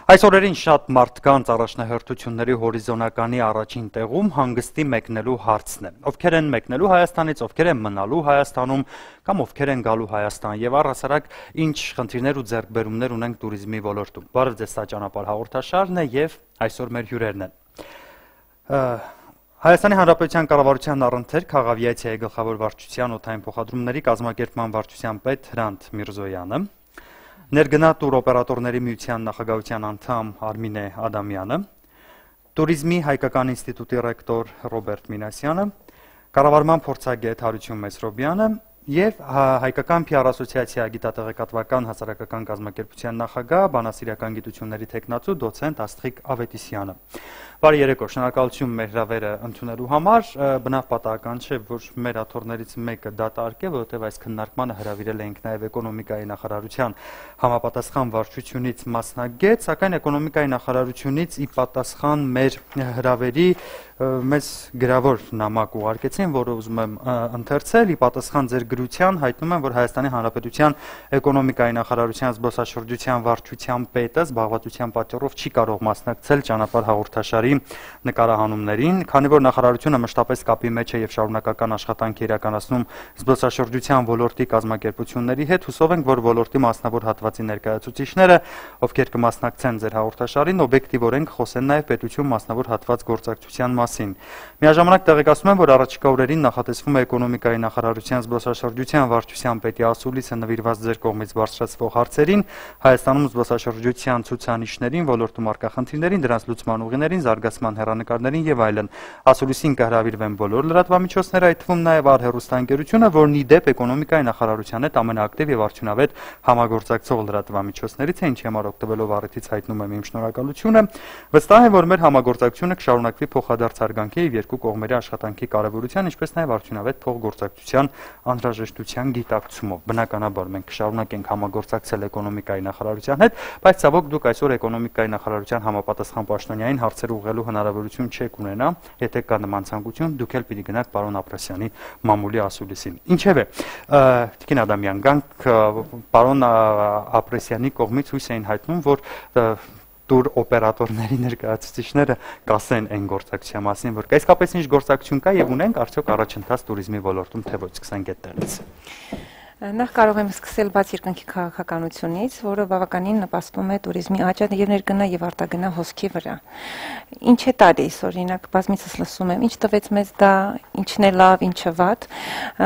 Այս օրերին շատ մարդկանց առաջնահերթությունների հորիզոնականի առաջին տեղում հանգստի մեկնելու հարցն է։ Ովքեր են մեկնելու Հայաստանից, ովքեր են մնալու Հայաստանում կամ ովքեր են գալու Հայաստան եւ առհասարակ ինչ խնդիրներ ու ձեռքբերումներ ունենք туриզմի ոլորտում։ Բարև ձեզ, սա ճանապարհ հաղորդաշարն է եւ այսօր մեր հյուրերն են։ Հայաստանի Հանրապետության կառավարության առընթեր Խաղավիացիայի գլխավոր վարչության օդային փոխադրումների կազմակերպման վարչության պետ Հրանտ Միրզոյանը, Ներգնա տուր օպերատորների միության նախագահության անդամ Արմինե Ադամյանը, Туриզմի հայկական ինստիտուտի ռեկտոր Ռոբերտ Մինասյանը, կառավարման փորձագետ Հարություն Մեսրոբյանը եւ հայկական PR ասոցիացիա գիտատեղեկատվական հասարակական կազմակերպության նախագահ բանասիրական գիտությունների թեկնածու դոցենտ Աստղիկ Ավետիսյանը։ Բարի երեկո, շնորհակալություն մեր հրավերը ընդունելու համար, բնավ պատահական չէ, որ մեր աթոռներից մեկը դատարկ է, որովհետև այս քննարկմանը հրավիրել էինք նաև էկոնոմիկայի նախարարության համապատասխան վարչությունից մասնագետ, սակայն էկոնոմիկայի նախարարությունից ի պատասխան մեր հրավերի մեզ գրավոր նամակ ուղարկեցին, որը ուզում եմ ընթերցել, ի պատասխան ձեր գրության հայտնում եմ, որ Հայաստանի Հանրապետության էկոնոմիկայի նախարարության զբոսաշրջության վարչության պետը զբաղվածության պատճառով չի կարող մասնակցել ճանապարհ հաղորդաշարի նկարահանումներին, քանի որ նախարարությունը մշտապես կապի մեջ է եւ շարունակական աշխատանք է իրականացնում զբոսաշրջության ոլորտի կազմակերպությունների հետ, հուսով ենք, որ ոլորտի մասնավոր հատվածի ներկայացուցիչները, ովքեր կմասնակցեն ձեր հաղորդաշարին, օբյեկտիվորեն կխոսեն նաեւ պետություն մասնավոր հատված գործակցության մասին։ Միաժամանակ տեղեկացնում եմ, որ առաջիկա օրերին նախատեսվում է էկոնոմիկայի նախարարության զբոսաշրջության վարչության պետի ասուլիսը նվիրված ձեր կողմից բարձրացվող հարցերին, Հայաստանում զբոսաշրջության ցուցանիշներին, ոլորտում առկա խնդիրներին, դրանց լուծման ուղիներին, զարգացման հեռանկարներին եւ այլն։ Ասուլիսին կհրավիրվեն բոլոր լրատվամիջոցները, այդ թվում նաեւ Արհերոստանգերությունը, որն ի դեպ էկոնոմիկայի նախարարության հետ ամենաակտիվ եւ արդյունավետ համագործակցող լրատվամիջոցներից է, ինչի համար օգտվելով առիթից հայտնում եմ իմ շնորհակալությունը։ Վստահ եմ, որ մեր համագործակցությունը կշարունակվի փոխադարձ հարգանքի եւ երկու կողմերի աշխատանքի կարեւորության, ինչպես նաեւ արդյունավետ փոխգործակցության անհրաժեշտության գիտակցումով։ Բնականաբար մենք կշարունակենք համագործակցել էկոնոմիկայի նախարարության հետ, բայց ցավոք դուք այսօր էկոնոմիկայի նախարարության համապատասխան պաշտոնյային հարցեր ուղղելու հնարավորություն չեք ունենա, եթե կա նման ցանկություն, դուք էլ պիտի գնաք պարոն Ապրասյանի մամուլի ասուլիսին։ Ինչևէ, Տիկին Ադամյան, գանք պարոն Ապրասյանի կողմից հույս էին հայտնում, որ տուր օպերատորների ներկայացուցիչները կասեն այն գործակցության մասին, որ իսկապես ինչ գործակցություն կա եւ ունենք արդյոք առաջընթաց туриզմի ոլորտում, թե ոչ, սկսենք այդտեղից։ Նախ կարող եմ սկսել բաց երկնքի քաղաքականությունից, որը բավականին նպաստում է туриզմի աճը եւ ներգնա եւ արտագնա հոսքի վրա։ Ինչ է տալիս, օրինակ, բազմիցս լսում եմ, ինչ տվեց մեզ դա, ինչն է լավ, ինչը վատ։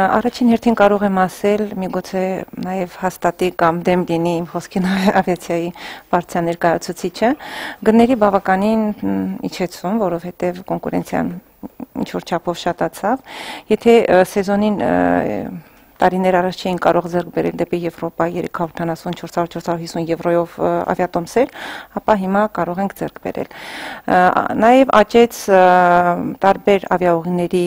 Առաջին հերթին կարող եմ ասել, միգուցե նաեւ հաստատի կամ դեմ լինի իմ խոսքին ավիացիայի վարչության ներկայացուցիչը, գների բավականին իջեցում, որովհետեւ կոնկուրենցիան ինչ որ չափով շատացավ։ Եթե սեզոնին տարիներ առաջ չէին կարող ձեռք բերել դեպի Եվրոպա 370-450 եվրոյով ավիատոմսեր, ապա հիմա կարող ենք ձեռք բերել։ Նաև աճեց տարբեր ավիաուղիների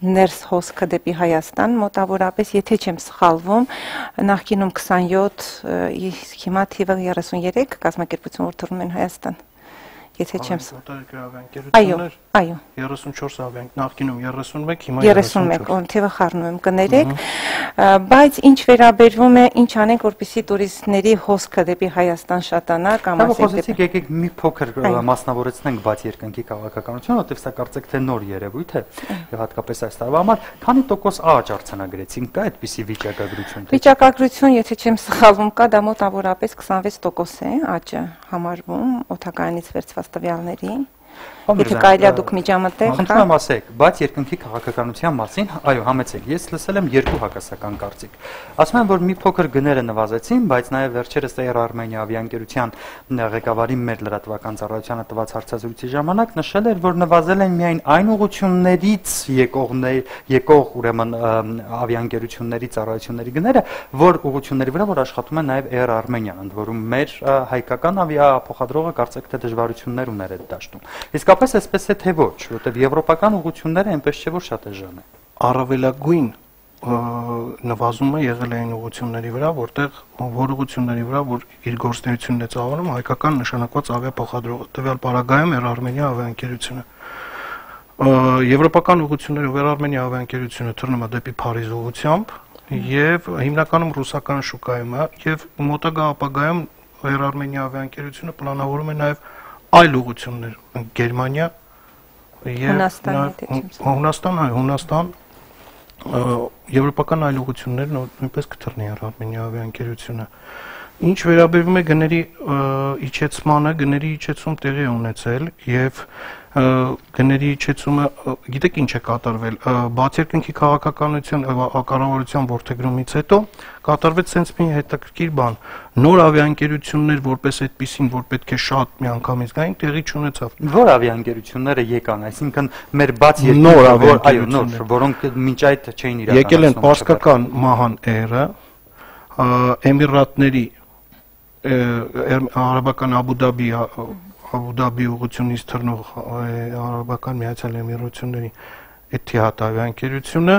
ներս հոսքը դեպի Հայաստան, մոտավորապես, եթե չեմ սխալվում, նախկինում 27, հիմա թիվը 33 կազմակերպություն որ թռում են Հայաստան։ Եթե չեմ սխալվում։ Այո, 34 ավիանք, նախկինում 31, հիմա 31, թիվը խառնում եմ, կներեք, բայց ինչ վերաբերվում է, ինչ անենք, որպեսզի տուրիստների հոսքը դեպի Հայաստան շատանա կամ ասենք եկեք մի փոքր մասնավորեցնենք բաց երկնքի քաղաքականությունը, որտեղ սա կարծեք թե նոր երևույթ է եւ հատկապես այս տարվա համար, քանի տոկոս աճ արձանագրեցինք, կա այդպիսի վիճակագրություն։ Վիճակագրություն, եթե չեմ սխալվում, կա, դա մոտավորապես 26% է աճը համարվում օդակայանից վերցված տվյալների։ Եթե կարելի է դուք միջամտեք, խնդրում եմ ասեք, բաց երկնքի քաղաքականության մասին, այո, համեցեք, ես լսել եմ երկու հակասական կարծիք։ Ասում եմ, որ մի փոքր գները նվազեցին, բայց նաև վերջերս Air Armenia ավիաընկերության ղեկավարի մեր լրատվական ծառայությանը տված հարցազրույցի ժամանակ նշել էր, որ նվազել են միայն այն ուղղություններից եկող ուրեմն ավիաընկերությունների ծառայությունների գները, որ ուղղությունների վրա որ աշխատում է նաև Air Armenia-ն, ընդ որում մեր հայկական ավիափոխադրողը կարծեք թե դժվարություններ ուներ այդ դաշտում։ Իսկապես այսպես է թե ոչ, որտեղ եվրոպական ուղղությունները այնպես չէ որ շատ էժան է։ Առավելագույն նվազումը եղել է այն ուղղությունների վրա, որ ուղղությունների վրա, որ իր գործունեությունն է ծավալում հայկական նշանակված ավիափոխադրողը, տվյալ պարագայում Air Armenia ավիաընկերությունը։ Եվրոպական ուղղություններով Air Armenia ավիաընկերությունը թռնում է դեպի Փարիզ ուղղությամբ եւ հիմնականում ռուսական շուկայում է եւ մոտակա ապագայում Air-Armenia ավիաընկերությունը պլանավորում է նաև այլ ուղղություններ Գերմանիա եւ Հունաստան եվրոպական այլ ուղղություններ նույնպես կթռնի Air-Armenia ավիաընկերությունը։ Ինչ վերաբերում է գների իջեցմանը, գների իջեցում տեղի է ունեցել եւ գների իջեցումը, գիտեք ինչ է կատարվել, բացի երկնքի քաղաքականության կառավարության ворթեգրումից հետո կատարվեց sense մի հետաքրքիր բան։ Նոր ավիաընկերություններ որպես այդպեսին, որ պետք է շատ միանգամից գային, տեղի չունեցավ։ Որ ավիաընկերությունները եկան, այսինքն մեր բաց նոր ավիաընկերություններ, որոնք մինչ այդ չէին իրականացնում։ Եկել են Պարսկական Mahan Air-ը, Էմիրատների Արաբական Աբու Դաբի ուղղությունից թռնող Արաբական Միացյալ Էմիրությունների Etihad ավիաընկերությունը,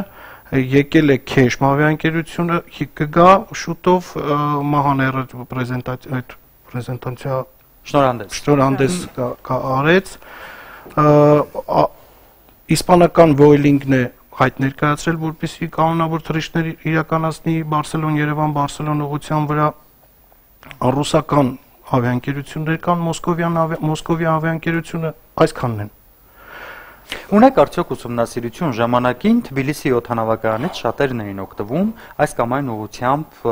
եկել է Քեշմ ավիաընկերությունը, կգա շուտով Mahan Air-ը պրեզենտացիա շնորհանդես արեց, իսպանական Vueling-ն է հայտ ներկայացրել, որպեսզի կանոնավոր թռիչքներ իրականացնի Բարսելոն-Երևան ուղղության վրա, ռուսական ավիաընկերություններ կան, Մոսկովյան ավիաընկերությունը, այսքանն են։ Ունեք արդյոք ուսումնասիրություն ժամանակին Թբիլիսի օդանավակայանից շատերն էին օգտվում այս կամ այն ուղղությամբ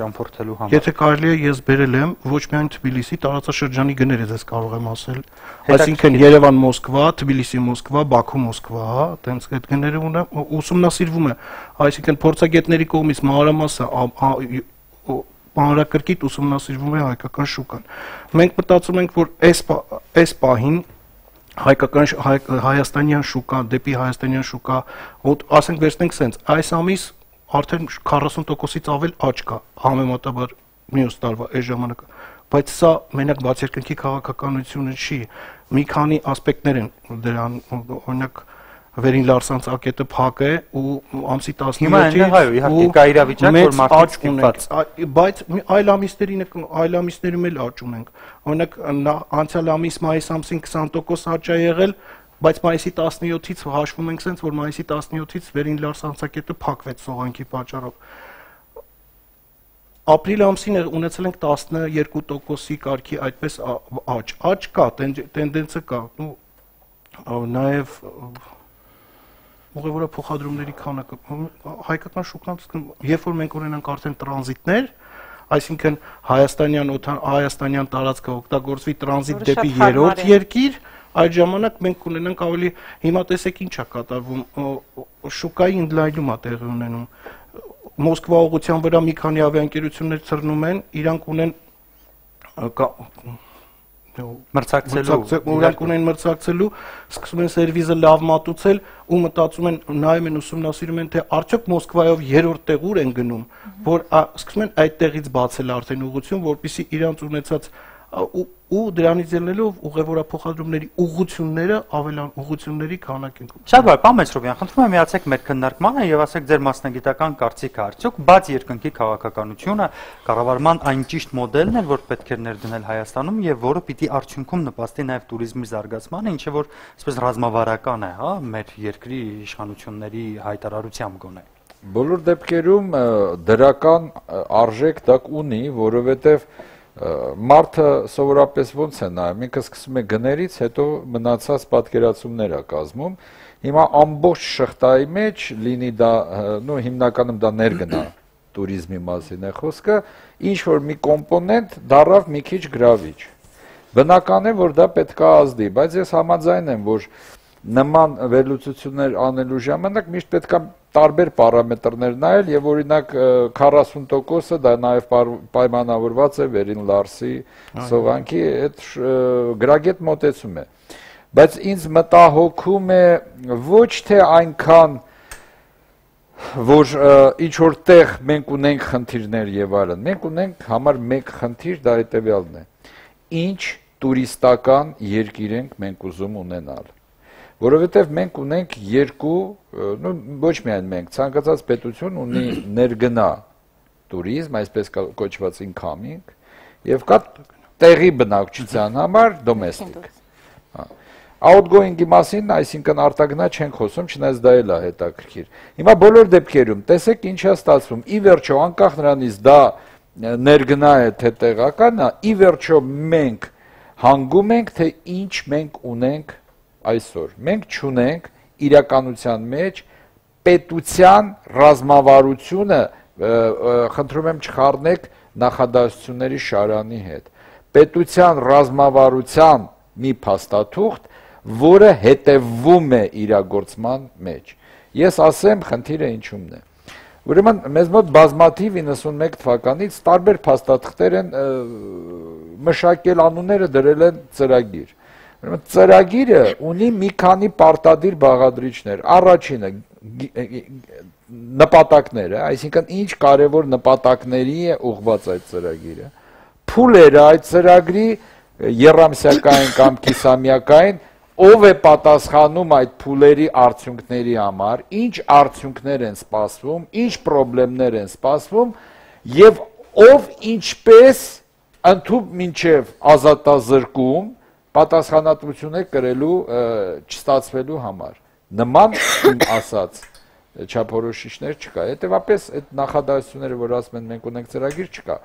ճամփորդելու համար։ Եթե կարելի է, ես բերել եմ ոչ միայն Թբիլիսի, տարածաշրջանի գները ձեզ կարող եմ ասել, այսինքն Երևան-Մոսկվա, Թբիլիսի-Մոսկվա, Բաքու-Մոսկվա, այտենց այդ գները ուսումնասիրվում է, այսինքն փորձագետների կողմից մանրամասը մանրակրկիտ ուսումնասիրվում է հայկական շուկան։ Մենք մտածում ենք, որ այս պահին հայաստանյան շուկա, դեպի հայաստանյան շուկա, ասենք վերցնենք սենց, այս ամիս արդեն 40%-ից ավել աճ կա, համեմատաբար մյուս տարվա այս ժամանակը, բայց սա մենակ բացերկնքի քաղաքականությունը չի, մի քանի ասպեկտներ են դրան, օրինակ Վերին Լարսանց ակետը փակ է ու ամսի 17-ից բայց այլ ամիսներում էլ աճ ունենք։ Օրինակ անցյալ ամիս մայիս ամսին 20% աճ է եղել, բայց մայիսի 17-ից հաշվում ենք սենց, որ մայիսի 17-ից Վերին Լարսանց ակետը փակվեց սողանքի պատճառով։ Ապրիլ ամսին ունեցել ենք 12%-ի կարգի այդպես աճ կա, տենդենսը կա, նաև ուղևորը փոխադրումների քանակը հայկական շուկան, երբ որ մենք ունենանք արդեն տրանզիտներ, այսինքն հայաստանյան տարածքը օգտագործվի տրանզիտ դեպի երրորդ երկիր, այդ ժամանակ մենք կունենանք ավելի, հիմա տեսեք ինչ է կատարվում, շուկայի ընդլայնում է տեղի ունենում, Մոսկվա ուղղության վրա մի քանի ավիաընկերություններ թռնում են, իրանք ունեն մրցակցելու, սկսում են սերվիզը լավ մատուցել ու մտածում են, նայում են, ուսումնասիրում են, թե արդյոք Մոսկվայով երրորդ տեղ ուր են գնում, որ սկսում են այդ տեղից բացել արդեն ուղղություն, որպեսզի իրանց ունեցած ու դրանից ելնելով ուղևորափոխադրումների ուղղությունները ավելան ուղղությունների քանակ են։ Շատ բարի, պարոն Մեծրոբյան, խնդրում եմ միացեք մեր քննարկմանը եւ ասեք ձեր մասնագիտական կարծիքը, արդյոք բաց երկնքի քաղաքականությունը կառավարման այն ճիշտ մոդելն է, որ պետք է ներդնել Հայաստանում եւ որը պիտի արդյունքում նպաստի նաեւ туриզմի զարգացմանը, ինչը որ այսպես ռազմավարական է, հա, մեր երկրի իշխանությունների հայտարարությամբ գոնե։ Բոլոր դեպքերում դրական արժեք դա ունի, որովհետեւ Մարդը սովորապես ոնց է նայում, ինքը սկսում է գներից, հետո մնացած պատկերացումներ է կազմում, հիմա ամբողջ շղթայի մեջ լինի դա, հիմնականում դա ներգնա туриզմի մասին է խոսքը, ինչ-որ մի կոմպոնենտ դառավ մի քիչ գրավիչ, բնական է, որ դա պետք է ազդի, բայց ես համաձայն եմ, որ նման վերլուծություններ անելու ժամանակ միշտ պետք է տարբեր պարամետրներ նայել եւ օրինակ 40%-ը դա նաեւ պայմանավորված է Վերին Լարսի սովանքի այդ գրագետ մոտեցում է, բայց ինձ մտահոգում է ոչ թե այնքան որ ինչ որտեղ մենք ունենք խնդիրներ եւ այլն, մենք ունենք համար մեկ խնդիր, դա հետեւյալն է, ինչ տուրիստական երկիր ենք մենք ուզում ունենալ, որովհետև մենք ունենք երկու, ոչ միայն մենք, ցանկացած պետություն ունի ներգնա туриզմ, այսպես կոչված incoming, եւ կա տեղի բնակչության համար domestic։ Outgoing-ի մասին, այսինքն արտագնա չենք խոսում, չնայած դա էլ է հետաքրքիր։ Հիմա բոլոր դեպքերում տեսեք ինչ է ստացվում։ Ի վերջո, անկախ նրանից դա ներգնա է թե տեղական է, ի վերջո մենք հանգում ենք, թե ինչ մենք ունենք այսօր։ Մենք չունենք իրականության մեջ պետության ռազմավարությունը, խնդրում եմ չխառնեք նախադասությունների շարանի հետ, պետության ռազմավարության մի փաստաթուղթ, որը հետևվում է իրագործման մեջ։ Ես ասեմ, խնդիրը ինչումն է։ Ուրեմն մեզ մոտ բազմաթիվ 91 թվականից տարբեր փաստաթղթեր են մշակել, անունները դրել են ծրագիր։ Ուրեմն ծրագիրը ունի մի քանի պարտադիր բաղադրիչներ։ Առաջինը նպատակները, այսինքն ինչ կարևոր նպատակների է ուղղված այդ ծրագիրը։ Փուլերը այդ ծրագրի եռամսյակային կամ կիսամյակային, ով է պատասխանում այդ փուլերի արդյունքների համար, ինչ արդյունքներ են սպասվում, ինչ խնդիրներ են սպասվում եւ ով ինչպես ընդհանուր մինչև ազատազրկում պատասխանատվություն է կրելու չստացվելու համար։ Նման ասած չափորոշիչներ չկա։ Հետևաբար այդ նախադասությունները, որ ասում են մենք ունենք ծրագիր, չկա։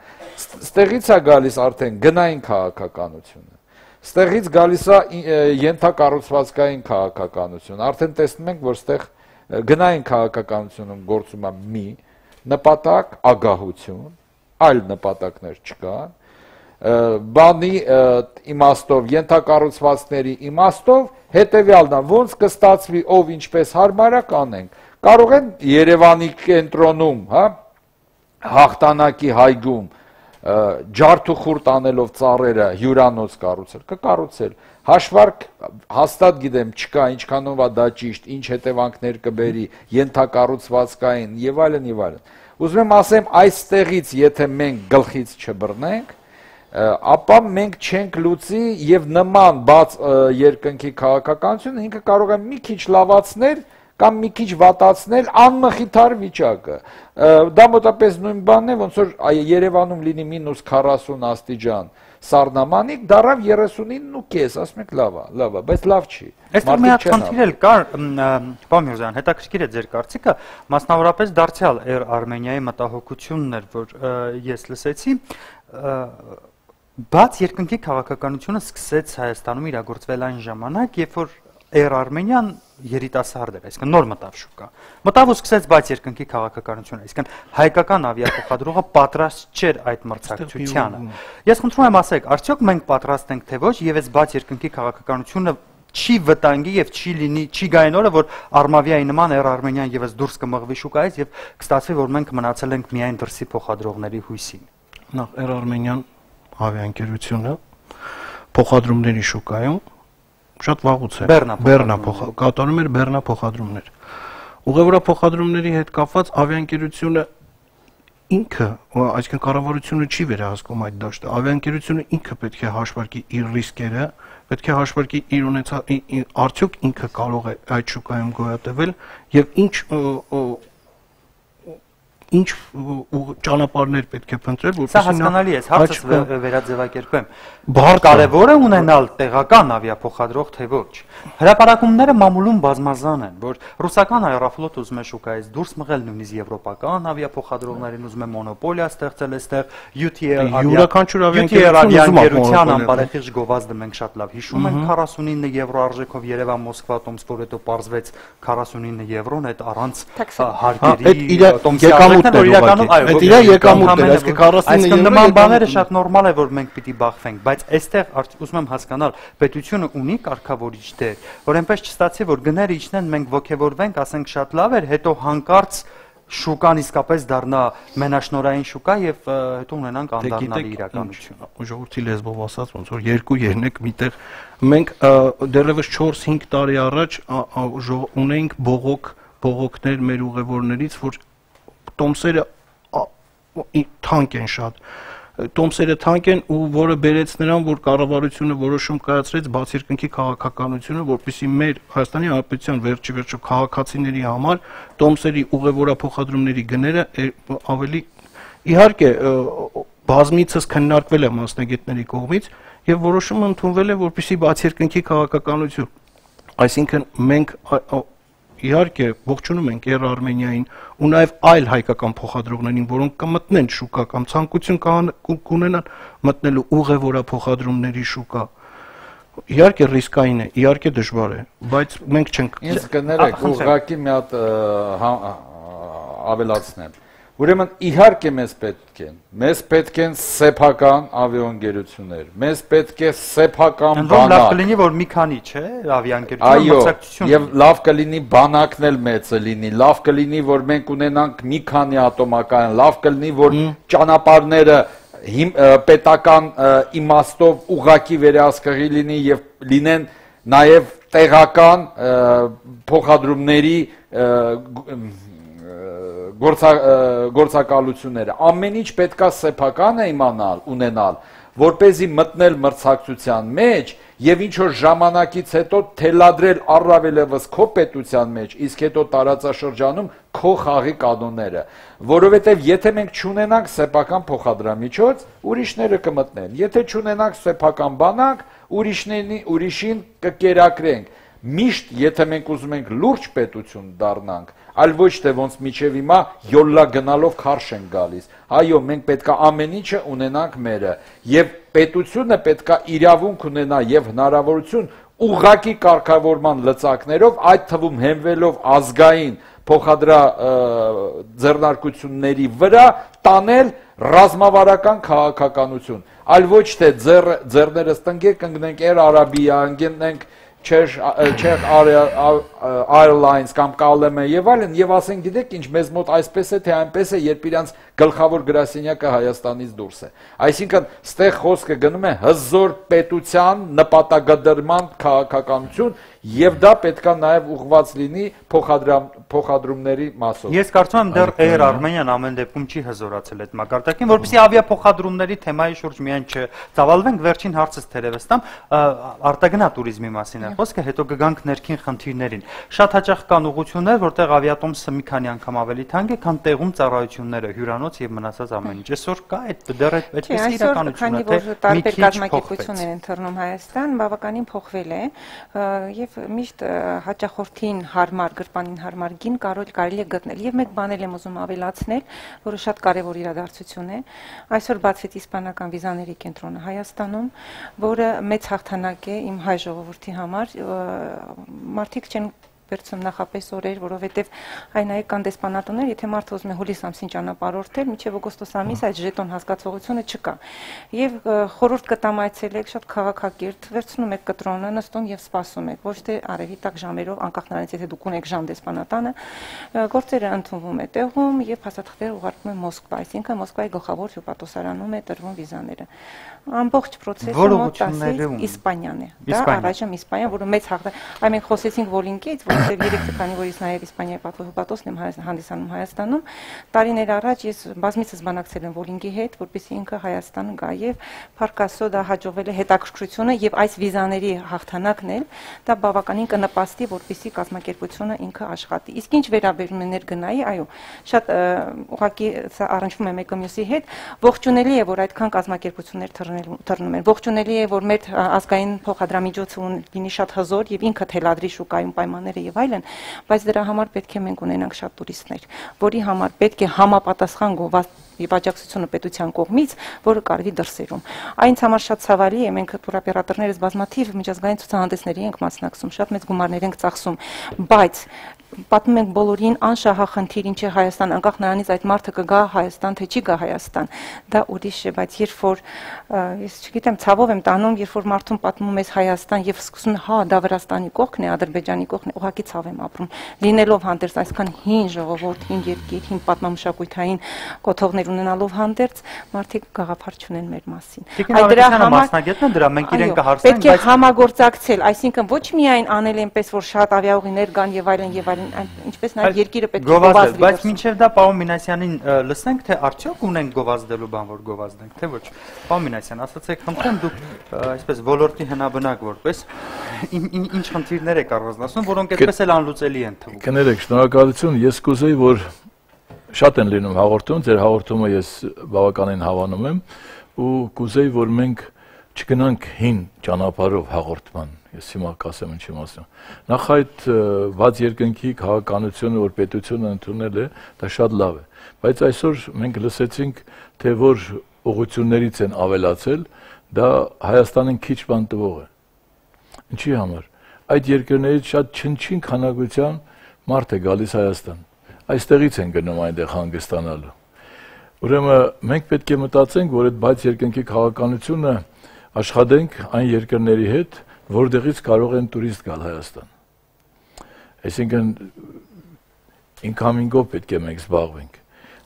Ստեղից է գալիս արդեն գնային քաղաքականությունը։ Ստեղից գալիս է ենթակառուցվածքային քաղաքականություն։ Արդեն տեսնում ենք, որ ստեղ գնային քաղաքականությունում գործում է մի նպատակ, ագահություն, այլ նպատակներ չկան։ Բանի իմաստով, ենթակառուցվածքների իմաստով հետևյալն է, ոնց կստացվի, ով ինչպես հարմար է կանենք։ Կարող են Երևանի կենտրոնում, հաղթանակի հայգում ջարդուխուրտ անելով ծառերը հյուրանոց կառուցել, կկառուցել։ Հաշվարկ հաստատ գիտեմ չկա, ինչքանով է դա ճիշտ, ինչ հետևանքներ կբերի, ենթակառուցվածքային եւ այլն եւ այլն։ Ուզում եմ ասեմ, այստեղից եթե մենք գլխից չբռնենք, ապա մենք չենք լուծի եւ նման բաց երկնքի քաղաքականությունը ինքը կարող է մի քիչ լավացնել կամ մի քիչ վատացնել անմխիթար վիճակը։ Դա մոտապես նույն բանն է, ոնց որ Երևանում լինի -40 աստիճան սառնամանիք, դարավ 39.5, ասում եք լավ է, բայց լավ չի։ Այստեղ մի հատ խնդիր էլ կար, պարոն Միրզոյան, հետաքրքիր է ձեր կարծիքը, մասնավորապես դարձյալ Արմենիայի մտահոգությունն էր, որ ես լսեցի, բաց երկնքի քաղաքականությունը սկսեց Հայաստանում իրագործվել այն ժամանակ, երբ որ Արմենիան երիտասարդ էր, այսինքն նոր մտավ շուկա։ Մտավ ու սկսեց բաց երկնքի քաղաքականությունը, այսինքն հայկական ավիափոխադրողը պատրաստ չէր այդ մրցակցությանը։ Ես խնդրում եմ ասեք, արդյոք մենք պատրաստ ենք թե ոչ, եւ այս բաց երկնքի քաղաքականությունը չի վտանգի եւ չի լինի, չի գային օրը, որ Արմավիայի նման Արմենիան եւս դուրս կմղվի շուկայից եւ կստացվի, որ մենք մնացել ենք միայն դրսի փոխադրողների հույսին։ Նախ Արմենիան ավիաընկերությունը փոխադրումների շուկայում շատ վաղուց է կատարում էր բեռնա փոխադրումներ։ Ուղևորա փոխադրումների հետ կապված ավիաընկերությունը ինքը, այսինքն կառավարությունը չի վերահսկում այդ դաշտը։ Ավիաընկերությունը ինքը պետք է հաշվարկի իր ռիսկերը, պետք է հաշվարկի իր ունեցած արդյոք ինքը կարող է այդ շուկայում գոյատևել եւ ինչ ճանապարհներ պետք է փնտրել, որպեսզի Սա հասկանալի է, հարցը վերաձևակերպեմ։ Կարևոր է ունենալ տեղական ավիափոխադրող թե ոչ։ Հրապարակումները մամուլում բազմազան են, որ ռուսական Aeroflot ուզում է շուկայից դուրս մղել, նույնիսկ եվրոպական ավիափոխադրողներին ուզում է մոնոպոլիա ստեղծել այստեղ, UTL ավիաընկերության անբարեխիղճ գովազդը մենք շատ լավ հիշում ենք, 49 եվրո արժեքով Երևան-Մոսկվա տոմսկոր հետո պարզվեց 49 եվրոն, այդ առանց հարկերի տոմսի Այդ իր եկամուտն է, այսինքն 49 եվրո։ Նման բաները շատ նորմալ է, որ մենք պիտի բախվենք, բայց այստեղ ուզում եմ հասկանալ, պետությունը ունի կարգավորիչ դեր, որ այնպես չստացի, որ գները իջնեն, մենք ոգևորվենք, ասենք շատ լավ էր, հետո հանկարծ շուկան իսկապես դառնա մենաշնորային շուկա եւ հետո ունենանք անդառնալի իրականություն։ Ժողովրդի լեզվով ասած, ոնց որ 2-3 միտեղ մենք դեռևս 4-5 տարի առաջ ունեինք բողոքներ մեր ուղևորներից, որ տոմսերը թանկ են շատ։ Տոմսերը թանկ են ու որը բերեց նրան, որ կառավարությունը որոշում կայացրեց բաց երկնքի քաղաքականությունը, որպեսզի մեր Հայաստանի Հանրապետության վերջի քաղաքացիների համար տոմսերի ուղևորափոխադրումների գները ավելի իհարկե բազմիցս քննարկվել է մասնագետների կողմից եւ որոշումը ընդունվել է, որպեսզի բաց երկնքի քաղաքականություն, այսինքն մենք իհարկե ողջունում ենք Air Armenia-ին ու նաև այլ հայկական փոխադրողներին, որոնք կմտնեն շուկա կամ ցանկություն կունենան մտնելու ուղևորափոխադրումների շուկա։ Իհարկե ռիսկային է, իհարկե դժվար է, բայց մենք չենք։ Ինձ կներեք, ուղղակի մի հատ ավելացնեմ։ Ուրեմն իհարկե մեզ պետք են սեփական ավիաընկերություններ, մեզ պետք է սեփական բանակ։ Լավ կլինի, որ մի քանի, չէ, ավիաընկերություն մրցակցություն։ Եվ լավ կլինի բանակն էլ մեծը լինի, լավ կլինի, որ մենք ունենանք մի քանի ատոմակայան, լավ կլինի, որ ճանապարհները պետական իմաստով ուղղակի վերահսկղի լինի եւ լինեն նաեւ տեղական փոխադրումների գործակալությունները ամեն ինչ պետքա սեփական է ունենալ, որպեսզի մտնել մրցակցության մեջ եւ ինչ որ ժամանակից հետո թելադրել առավելևս քո պետության մեջ, իսկ հետո տարածաշրջանում քո խաղի կանոնները, որովհետեւ եթե մենք չունենանք սեփական փոխադրամիջոց, ուրիշները կմտնեն, եթե չունենանք սեփական բանակ, ուրիշին կկերակրենք։ Միշտ եթե մենք ուզում ենք լուրջ պետություն դառնանք, այլ ոչ թե ոնց միջև հիմա յոլլա գնալով քարշ են գալիս։ Այո, մենք պետքա ամեն ինչը ունենանք մերը, եւ պետությունը պետքա իրավունք ունենա եւ հնարավորություն ուղղակի կարգավորման լծակներով, այդ թվում հենվելով ազգային փոխադրա ձեռնարկությունների վրա տանել ռազմավարական քաղաքականություն, այլ ոչ թե ձեռներս տնկենք, ընկնենք Air Arabia, ընկնենք Czech Airlines կամ KLM եւ այլն եւ ասեն գիտեք ինչ մեզ մոտ այսպես է թե այնպես է երբ իրանց գլխավոր գրասենյակը Հայաստանից դուրս է այսինքն ստեղ խոսքը գնում է հզոր պետության նպատակադրման քաղաքականություն եւ դա պետքա նաեւ ուղղված լինի փոխադրումների մասով Ես կարծում եմ դեռ Air Armenian ամեն դեպքում չի հզորացել այդ մակարդակին որպեսզի ավիափոխադրումների թեմայի շուրջ միայն չծավալվենք վերջին հարցս թերևս տամ արտագնա туриզմի մասին խոսքը հետո կգանք ներքին խնդիրներին։ Շատ հաճախ կան ուղղություններ, որտեղ ավիատոմսը մի քանի անգամ ավելի թանկ է, քան տեղում ծառայությունները, հյուրանոց եւ մնացած ամեն ինչ։ Այսօր կա այդ դեռ այդպես իրականությունը, թե տարբեր կազմակերպություններ են թռնում Հայաստան, բավականին փոխվել է եւ միշտ հաճախորդին հարմար, գրպանին հարմար գին կարելի է գտնել։ Եվ մեկ բան եմ ուզում ավելացնել, որը շատ կարեւոր իրադարձություն է։ Այսօր բացվեց իսպանական վիզաների կենտրոնը Հայաստանում, որը մեծ հաղթանակ է իմ հայ ժողովրդի համար մարդիկ չեն վերցնում նախապես օրեր, որովհետև այնայի կան դեսպանատներ, եթե մարդը ուզում է հուլիս ամսին ճանապարհորդել, մինչև օգոստոս ամիս այդ ժետոն հասկացողությունը չկա։ Եվ խորհուրդ կտամ այցելեք շատ քաղաքակիրթ, վերցնում եք կտրոնը, նստում եւ սպասում եք, ոչ թե արևի տակ ժամերով, անկախ նրանից եթե դուք ունեք ժամ դեսպանատանը, գործերը ընդունվում է տեղում եւ փաստաթղթերը ուղարկվում են Մոսկվա, այսինքն Մոսկվայի գլխավոր հյուպատոսարանում է տրվում վիզաները։ Ամբողջ process-ը մոտ 10 Իսպանիան է։ Դա առայժմ Իսպանիան, որը մեծ հաղթանակ, այ մենք խոսեցինք Վոլինկից, որովհետև երեք քանի որից նաև Իսպանիայի պատվոհպատոսն եմ հանդիսանում Հայաստանում, տարիներ առաջ ես բազմիցս բանակցել եմ Վոլինկի հետ, որպեսզի ինքը Հայաստան գա եւ Փարքասո դա հաջողվել է հետաքրքրությունը եւ այս վիզաների հաղթանակն էլ դա բավականին կնպաստի, որպեսզի կազմակերպությունը ինքը աշխատի։ Իսկ ինչ վերաբերում է ներգնայի, այո, շատ ուղղակի առնչվում է մեկը մյուսի հետ, ողջունելի է, որ այդքան կազմակերպություններ թռնում են։ Ողջունելի է, որ մեր ազգային փոխադրամիջոցը լինի շատ հզոր եւ ինքը թելադրի շուկայում պայմանները եւ այլն, բայց դրա համար պետք է մենք ունենանք շատ տուրիստներ, որի համար պետք է համապատասխան գովազդ եւ աջակցությունը պետության կողմից, որը կարվի դրսերում։ Այնց համար շատ ցավալի է, մենք տուրօպերատորներս բազմաթիվ միջազգային ցուցահանդեսների ենք մասնակցում, շատ մեծ գումարներ ենք ծախսում, բայց պատմում ենք բոլորին անշահախնդիր ինչ է Հայաստան, անկախ նրանից այդ մարդը կգա Հայաստան, թե չի գա Հայաստան, դա ուրիշ է, բայց երբ որ ես չգիտեմ, ցավով եմ տանում, երբ որ մարդուն պատմում ես Հայաստան եւ սկսում հա, դա Վրաստանի կողքն է, Ադրբեջանի կողքն է, ուղղակի ցավ եմ ապրում։ Լինելով հանդերձ այսքան հին ժողովուրդ, հին երկիր, հին պատմամշակութային կոթողներ ունենալով հանդերձ, մարդիկ գաղափար չունեն մեր մասին։ Այդ դրա համար մասնագետն է դրա, մենք իրեն կհարցնենք, բայց պետք է համագործակցել, այսինքն ոչ միայն անել այնպես, որ շատ ավիաուղիներ կան եւ այլն եւ այլն, ինչպես նաեւ երկիրը պետք է գովազդի։ Բայց մինչեւ դա Պաուն Մինասյանին լսենք, թե արդյոք ունենք գովազդելու բան, որ գովազդենք, թե ոչ։ Պաուն Մինասյան, ասացեք, խնդրեմ դուք այսպես ոլորտի հնաբնակ որպես ինչ խնդիրներ եք առանձնացնում, որոնք այդպես էլ անլուծելի են թվում։ Կներեք, շնորհակալություն, ես կուզեի, որ շատ են լինում հաղորդում, ձեր հաղորդումը ես բավականին հավանում եմ ու կուզեի, որ մենք չգնանք հին ճանապարհով հաղորդման։ Ես հիմա կասեմ ինչի մասին։ Նախ այդ բաց երկնքի քաղաքականությունը, որ պետությունը ընդունել է, դա շատ լավ է, բայց այսօր մենք լսեցինք, թե որ ուղղություններից են ավելացել, դա Հայաստանին քիչ բան տվող է։ Ինչի համար։ Այդ երկրներից շատ չնչին քանակության մարդ է գալիս Հայաստան։ Այստեղից են գնում այնտեղ հանգստանալու։ Ուրեմն մենք պետք է մտածենք, որ այդ բաց երկնքի քաղաքականությունը աշխատենք այն երկրների հետ, որտեղից կարող են տուրիստ գալ Հայաստան։ Այսինքն incoming-ով պետք է մենք զբաղվենք։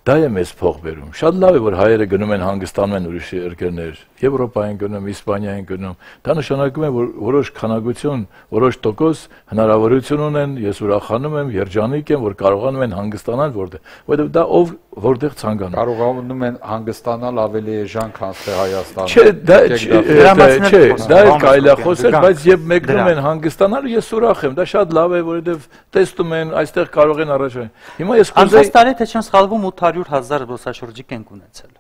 Դա է մեզ փող բերում։ Շատ լավ է, որ հայերը գնում են հանգստանում են ուրիշ երկրներ, Եվրոպա են գնում, Իսպանիա են գնում։ Դա նշանակում է, որ որոշ քանակություն, որոշ տոկոս հնարավորություն ունեն, ես ուրախանում եմ, երջանիկ եմ, որ կարողանում են հանգստանալ որտեղ, որտեղ դա ով որտեղ ցանկանում։ Կարողանում են հանգստանալ ավելի էժան, քան թե Հայաստանը։ Չէ, դա է կարելի է խոսել, բայց երբ մեկնում են հանգստանալ, ես ուրախ եմ, դա շատ լավ է, որովհետև տեսնում են, այստեղ կարող են առաջ։ Հիմա ես կուզեի Անցած տարի թե չեմ սխալվում 800,000 զբոսաշրջիկ ենք ունեցել։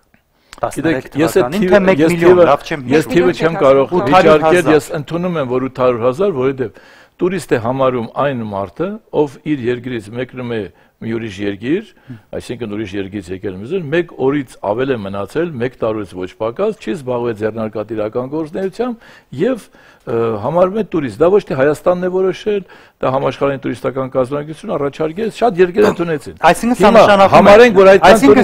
13 թվականին թե 1 միլիոն, լավ չեմ հիշում։ Ես թիվը չեմ կարող վիճարկել, ես ընդունում եմ, որ 800,000, որովհետև տուրիստ է համարում այն մարդը, ով իր երկրից մեկնում է մի ուրիշ երկիր, այսինքն ուրիշ երկրից եկել մյուս, մեկ օրից ավել է մնացել, մեկ տարուց ոչ պակաս, չի զբաղվել ձեռնարկատիրական գործունեությամբ եւ համարվում է տուրիստ։ Դա ոչ թե Հայաստանն է որոշել, դա համաշխարհային տուրիստական կազմակերպությունը առաջարկել, շատ երկրներ ընդունեցին։ Այսինքն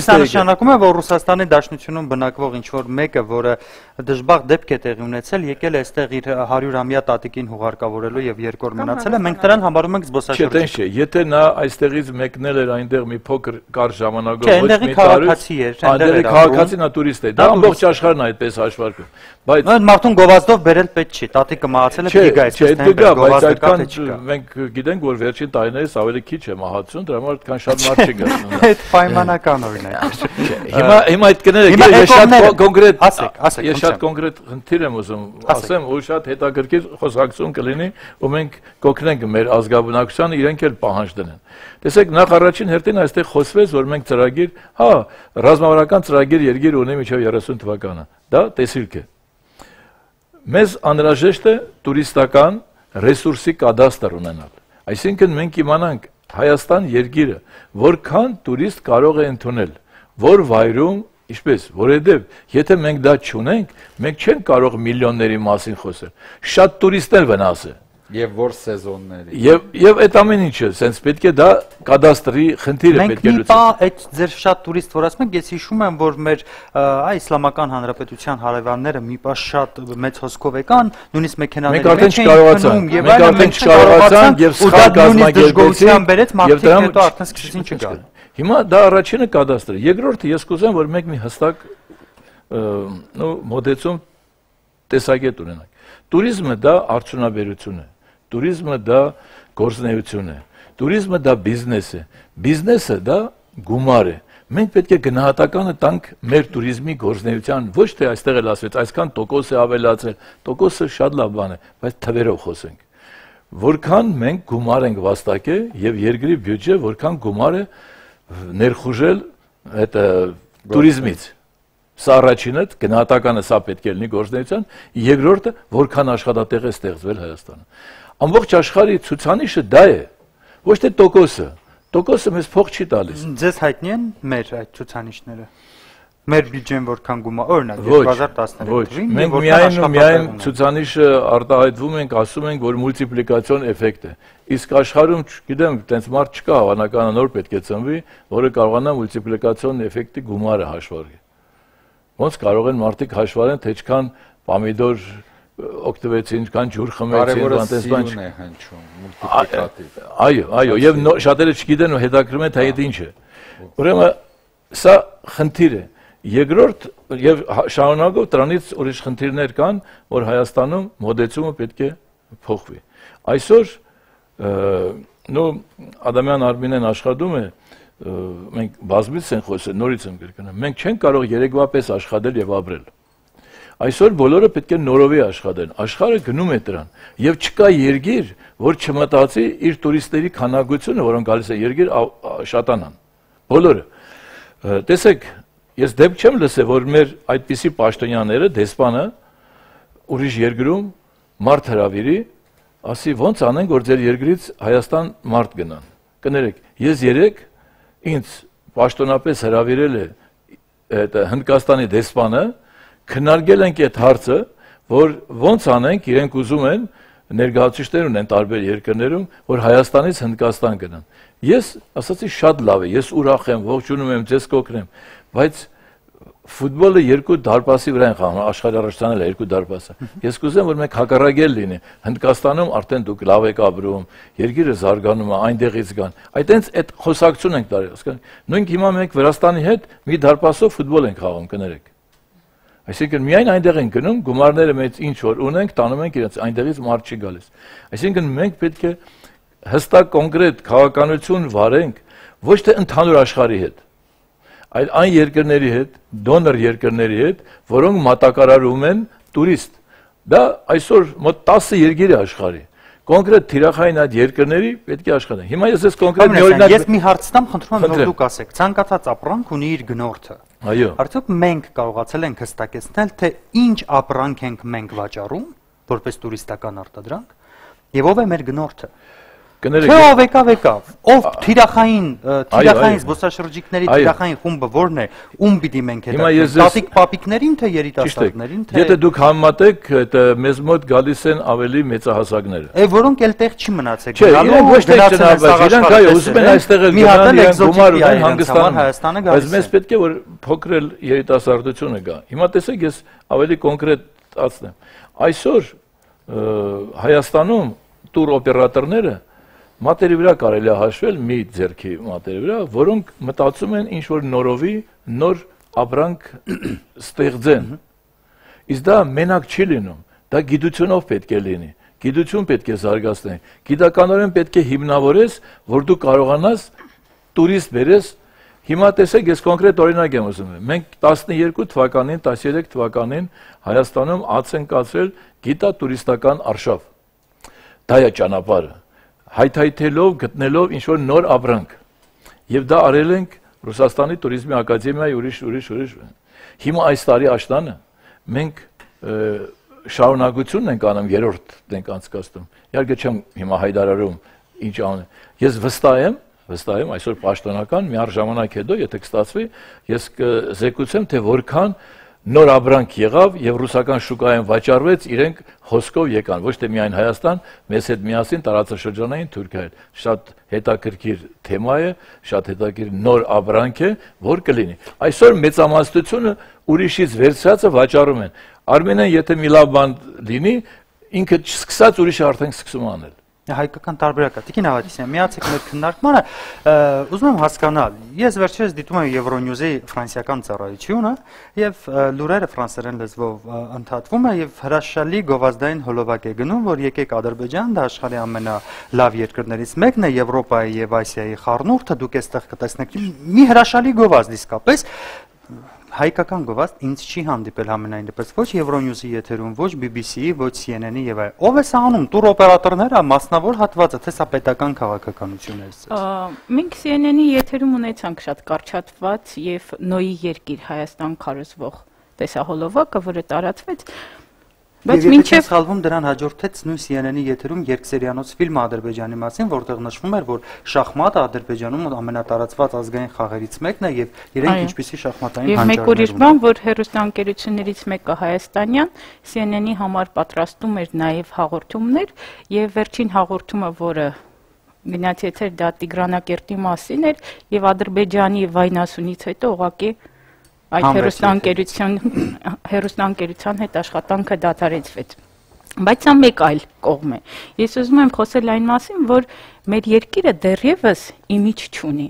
սա նշանակում է, որ Ռուսաստանի Դաշնությունում բնակվող ինչ-որ մեկը, որը դժբախտ դեպք է տեղի ունեցել, եկել է այստեղ իր 100-ամյա տատիկին հուղարկավորելու եւ երկու օր մնացել է, մենք նրան համարում ենք զբոսաշրջիկ։ Չէ, եթե նա այստեղից մեկնել էր այնտեղ մի փոքր կարճ ժամանակով ոչ մի տարի, այնտեղի քաղաքացին, նա տուրիստ է։ Դա ամբողջ աշխարհն այդպես հաշվարկում։ Բայց մարդուն գովազդով բերել պետք չի, տատիկը մահացել է, դիգա է, չէ, դիգա, բայց այդքան մենք գիտենք, որ վերջին տարիներից ավելի քիչ է մահացություն, դրա համար այդքան շատ մարդ չի գնում։ Այդ պայմանական օրինակ է։ Հիմա այդ կները ես շատ կոնկրետ ես շատ կոնկրետ խնդիր եմ ուզում ասեմ, ու շատ հետաքրքիր խոսակցություն կլինի, ու մենք կօգնենք մեր ազգաբնակչությանը իրենք էլ պահանջ դնեն։ Տեսեք, նախ առաջին հերթին այստեղ խոսվեց, որ մենք ծրագիր, ռազմավարական ծրագիր երկիր ունի մինչև 30 թվականը։ Դա տեսիլք է։ Մեզ անհրաժեշտ է տուրիստական ռեսուրսի կադաստր ունենալ։ Այսինքն մենք իմանանք Հայաստան երկիրը որքան տուրիստ կարող է ընդունել, որ վայրում, ինչպես, որովհետև եթե մենք դա չունենք, մենք չենք կարող միլիոնների մասին խոսել։ Շատ տուրիստներ վնաս է։ Եւ որ սեզոնների։ Եվ այդ ամեն ինչը, sense պետք է դա կադաստրի խնդիրը պետք է լուծել։ Մենք այդ ձեր շատ տուրիստ որ ասում եք, ես հիշում եմ, որ մեր Իսլամական Հանրապետության հարևանները մի պահ շատ մեծ հոսքով եկան, նույնիսկ մեքենաների մեջ մենք չկարողացանք եւ սխալ կազմակերպեցին բերեց մարդիկ հետո արդեն սկսեցին չգալ։ Հիմա դա առաջինը կադաստրը, երկրորդը ես կուզեմ, որ մենք մի հստակ մոդեցում տեսակետ ունենանք։ Տուրիզմը դա արդյունաբերություն է։ Տուրիզմը դա գործունեություն է, տուրիզմը դա բիզնես է, բիզնեսը դա գումար է։ Մենք պետք է գնահատականը տանք մեր տուրիզմի գործունեության, ոչ թե այստեղ էլ ասվեց, այսքան տոկոս է ավելացել, տոկոսը շատ լավ բան է, բայց թվերով խոսենք։ Որքան մենք գումար ենք վաստակել եւ երկրի բյուջե որքան գումար է ներխուժել այդ տուրիզմից։ Սա առաջինը, գնահատականը սա պետք է լինի գործունեության, երկրորդը որքան աշխատատեղ է ստեղծվել Հայաստանում։ Ամբողջ աշխարհի ցուցանիշը դա է, ոչ թե տոկոսը։ Տոկոսը մեզ փող չի տալիս։ Ձեզ հայտնի են մեր այդ ցուցանիշները։ Մեր բյուջեն որքան գումար, օրինակ 2013 թվականին մենք միայն ցուցանիշը արտահայտվում ենք, ասում ենք, որ մուլտիպլիկացիոն էֆեկտ է։ Իսկ աշխարհում, չգիտեմ, տենց մարդ չկա, հավանական նոր պետք է ծնվի, որը կարողանա մուլտիպլիկացիոն էֆեկտի գումարը հաշվարկել։ Ոնց կարող են մարդիկ հաշվարեն, թե ինչքան պամիդոր օգտվեցին, ինչքան ջուր խմեցին, բանտես բան է հնչում, մուլտիպլիկատիվ։ Այո, եւ շատերը չգիտեն ու հետաքրքրում են, թե այդ ինչ է։ Ուրեմն սա խնդիր է։ Երկրորդ եւ շարունակով դրանից ուրիշ խնդիրներ կան, որ Հայաստանում մոդեցումը պետք է փոխվի։ Այսօր Ադամյան Արմինեն աշխատում է, մենք բազմից են խոսել, նորից եմ կրկնում, մենք չենք կարող երեկվա պես աշխատել եւ ապրել։ Այսօր բոլորը պետք է նորովի աշխատեն, աշխարհը գնում է դրան եւ չկա երկիր, որ չմտածի իր տուրիստների քանակությունը, որոնք գալիս են երկիր, շատանան։ Բոլորը։ Տեսեք, ես դեպք չեմ լսել, որ մեր այդպիսի պաշտոնյաները, դեսպանը ուրիշ երկրում մարդ հրավիրի, ասի ոնց անենք, որ ձեր երկրից Հայաստան մարդ գնան։ Կներեք, ես երեք ինձ պաշտոնապես հրավիրել է Հնդկաստանի դեսպանը, քննարկել ենք այդ հարցը, որ ոնց անենք, իրենք ուզում են ներկայացուցիչներ ունեն տարբեր երկրներում, որ Հայաստանից Հնդկաստան գնան։ Ես ասացի շատ լավ է, ես ուրախ եմ, ողջունում եմ, ձեզ կօգնեմ, բայց ֆուտբոլը երկու դարպասի վրա են խաղում, աշխարհի առաջնալը երկու դարպասը։ Ես կուզեմ, որ մենք հակառակել լինի։ Հնդկաստանում արդեն դուք լավ եք ապրում, երկիրը զարգանում է, այնտեղից գան։ Այդտենց այդ խոսակցություն ենք տարել։ Նույնք հիմա մենք Վրաստանի հետ մի դարպասով ֆուտբոլ ենք խաղում, կներեք։ Այսինքն միայն այնտեղ են գնում, գումարները մեծ ինչ որ ունենք, տանում ենք իրենց, այնտեղից մարդ չի գալիս։ Այսինքն մենք պետք է հստակ կոնկրետ քաղաքականություն վարենք ոչ թե ընդհանուր աշխարհի հետ, այլ այն երկրների հետ, դոնոր երկրների հետ, որոնք մատակարարում են տուրիստ։ Դա այսօր մոտ 10 երկիր է աշխարհի։ Կոնկրետ թիրախային այդ երկրների պետք է աշխատեն։ Հիմա ես կոնկրետ մի օրինակ ես մի հարց տամ, խնդրում եմ որ դուք ասեք, ցանկացած ապրանք ունի իր գնորդը։ Այո։ Արդյոք մենք կարողացել ենք հստակեցնել, թե ինչ ապրանք ենք մենք վաճառում, որպես տուրիստական արտադրանք, եւ ով է մեր գնորդը։ Կներեք, թե ով եկավ, ով թիրախային զբոսաշրջիկների թիրախային խումբը որն է, ում պիտի մենք հետաքրքրենք, տատիկ պապիկներին, թե երիտասարդներին, թե եթե դուք համեմատեք, մեզ մոտ գալիս են ավելի մեծահասակները։ Որոնք էլ տեղ չի մնացել։ Չէ, իրենք ոչ թե ճնաբաց, իրենք այո, ուզում են այստեղ էլ գնալ, իրենք գումար ունեն Հանգստանում, բայց մեզ պետք է որ փոքրել երիտասարդությունը գա։ Հիմա տեսեք, ես ավելի կոնկրետացնեմ։ Այսօր Հայաստանում տուր օպերատորները մատերի վրա կարելի է հաշվել մի ձեռքի մատերի վրա, որոնք մտածում են ինչ որ նորովի նոր ապրանք ստեղծեն։ Իսկ դա մենակ չի լինում, դա գիտությունով պետք է լինի, գիտություն պետք է զարգացնել, գիտականորեն պետք է հիմնավորես, որ դու կարողանաս տուրիստ բերես։ Հիմա տեսեք, ես կոնկրետ օրինակ եմ ասում, մենք 12 թվականին, 13 թվականին Հայաստանում ած ենք կացրել գիտա-տուրիստական արշավ։ Դա է ճանապարհը։ Հայթայթելով, գտնելով ինչ-որ նոր ապրանք։ Եվ դա արել ենք Ռուսաստանի տուրիզմի ակադեմիայի ուրիշ։ Հիմա այս տարի աշտանը մենք շարունակությունն ենք անում, երրորդն ենք անցկացնում։ Իհարկե չեմ հիմա հայտարարում ինչ անում։ Ես վստահ եմ, այսօր պաշտոնական մի առժամանակ հետո, եթե կստացվի, ես կզեկուցեմ, թե որքան նոր ապրանք եղավ եւ ռուսական շուկայում վաճառվեց, իրենք հոսքով եկան, ոչ թե միայն Հայաստան, մեզ հետ միասին տարածաշրջանային Թուրքիա։ Շատ հետաքրքիր թեմա է, շատ հետաքրքիր նոր ապրանք է, որ կլինի։ Այսօր մեծամասնությունը ուրիշից վերցրածը վաճառում են։ Արմենիան եթե մի լավ բան լինի, ինքը չսկսած ուրիշը արդեն սկսում անել։ Հայկական տարբերակը։ Տիկին Ավետիսյան, միացեք մեր քննարկմանը, ուզում եմ հասկանալ, ես վերջերս դիտում եմ Euronews-ի ֆրանսիական ծառայությունը եւ լուրերը ֆրանսերեն լեզվով ընդհատվում է եւ հրաշալի գովազդային հոլովակ է գնում, որ եկեք Ադրբեջան, դա աշխարհի ամենալավ երկրներից մեկն է, Եվրոպայի եւ Ասիայի խառնուրդը, դուք այստեղ կտեսնեք մի հրաշալի գովազդ իսկապես։ Հայկական գովազդ ինձ չի հանդիպել համենայն դեպս ոչ Euronews-ի եթերում, ոչ BBC-ի, ոչ CNN-ի եւ այլ։ Ով է սա անում, տուր օպերատորները, մասնավոր հատվածը, թե սա պետական քաղաքականություն է ցած։ Մենք CNN-ի եթերում ունեցանք շատ կարճատված եւ նոյի երկիր Հայաստան քարոզվող տեսահոլովակը, որը տարածվեց, բայց մինչև սխալվում դրան հաջորդեց նույն CNN-ի եթերում երկսերիանոց ֆիլմ Ադրբեջանի մասին, որտեղ նշվում էր, որ շախմատը Ադրբեջանում ամենատարածված ազգային խաղերից մեկն է եւ իրենք ինչպիսի շախմատային հանճարներ ունեն։ Եվ մեկ ուրիշ բան, որ հերոստանգերություններից մեկը Հայաստանյան CNN-ի համար պատրաստում էր նաեւ հաղորդումներ եւ վերջին հաղորդումը, որը գնաց եթեր, դա Տիգրանակերտի մասին էր եւ Ադրբեջանի վայնասունից հետո ուղղակի այդ հերոստանգերության հետ աշխատանքը դադարեցվեց։ Բայց սա մեկ այլ կողմ է։ Ես ուզում եմ խոսել այն մասին, որ մեր երկիրը դեռևս իմիջ չունի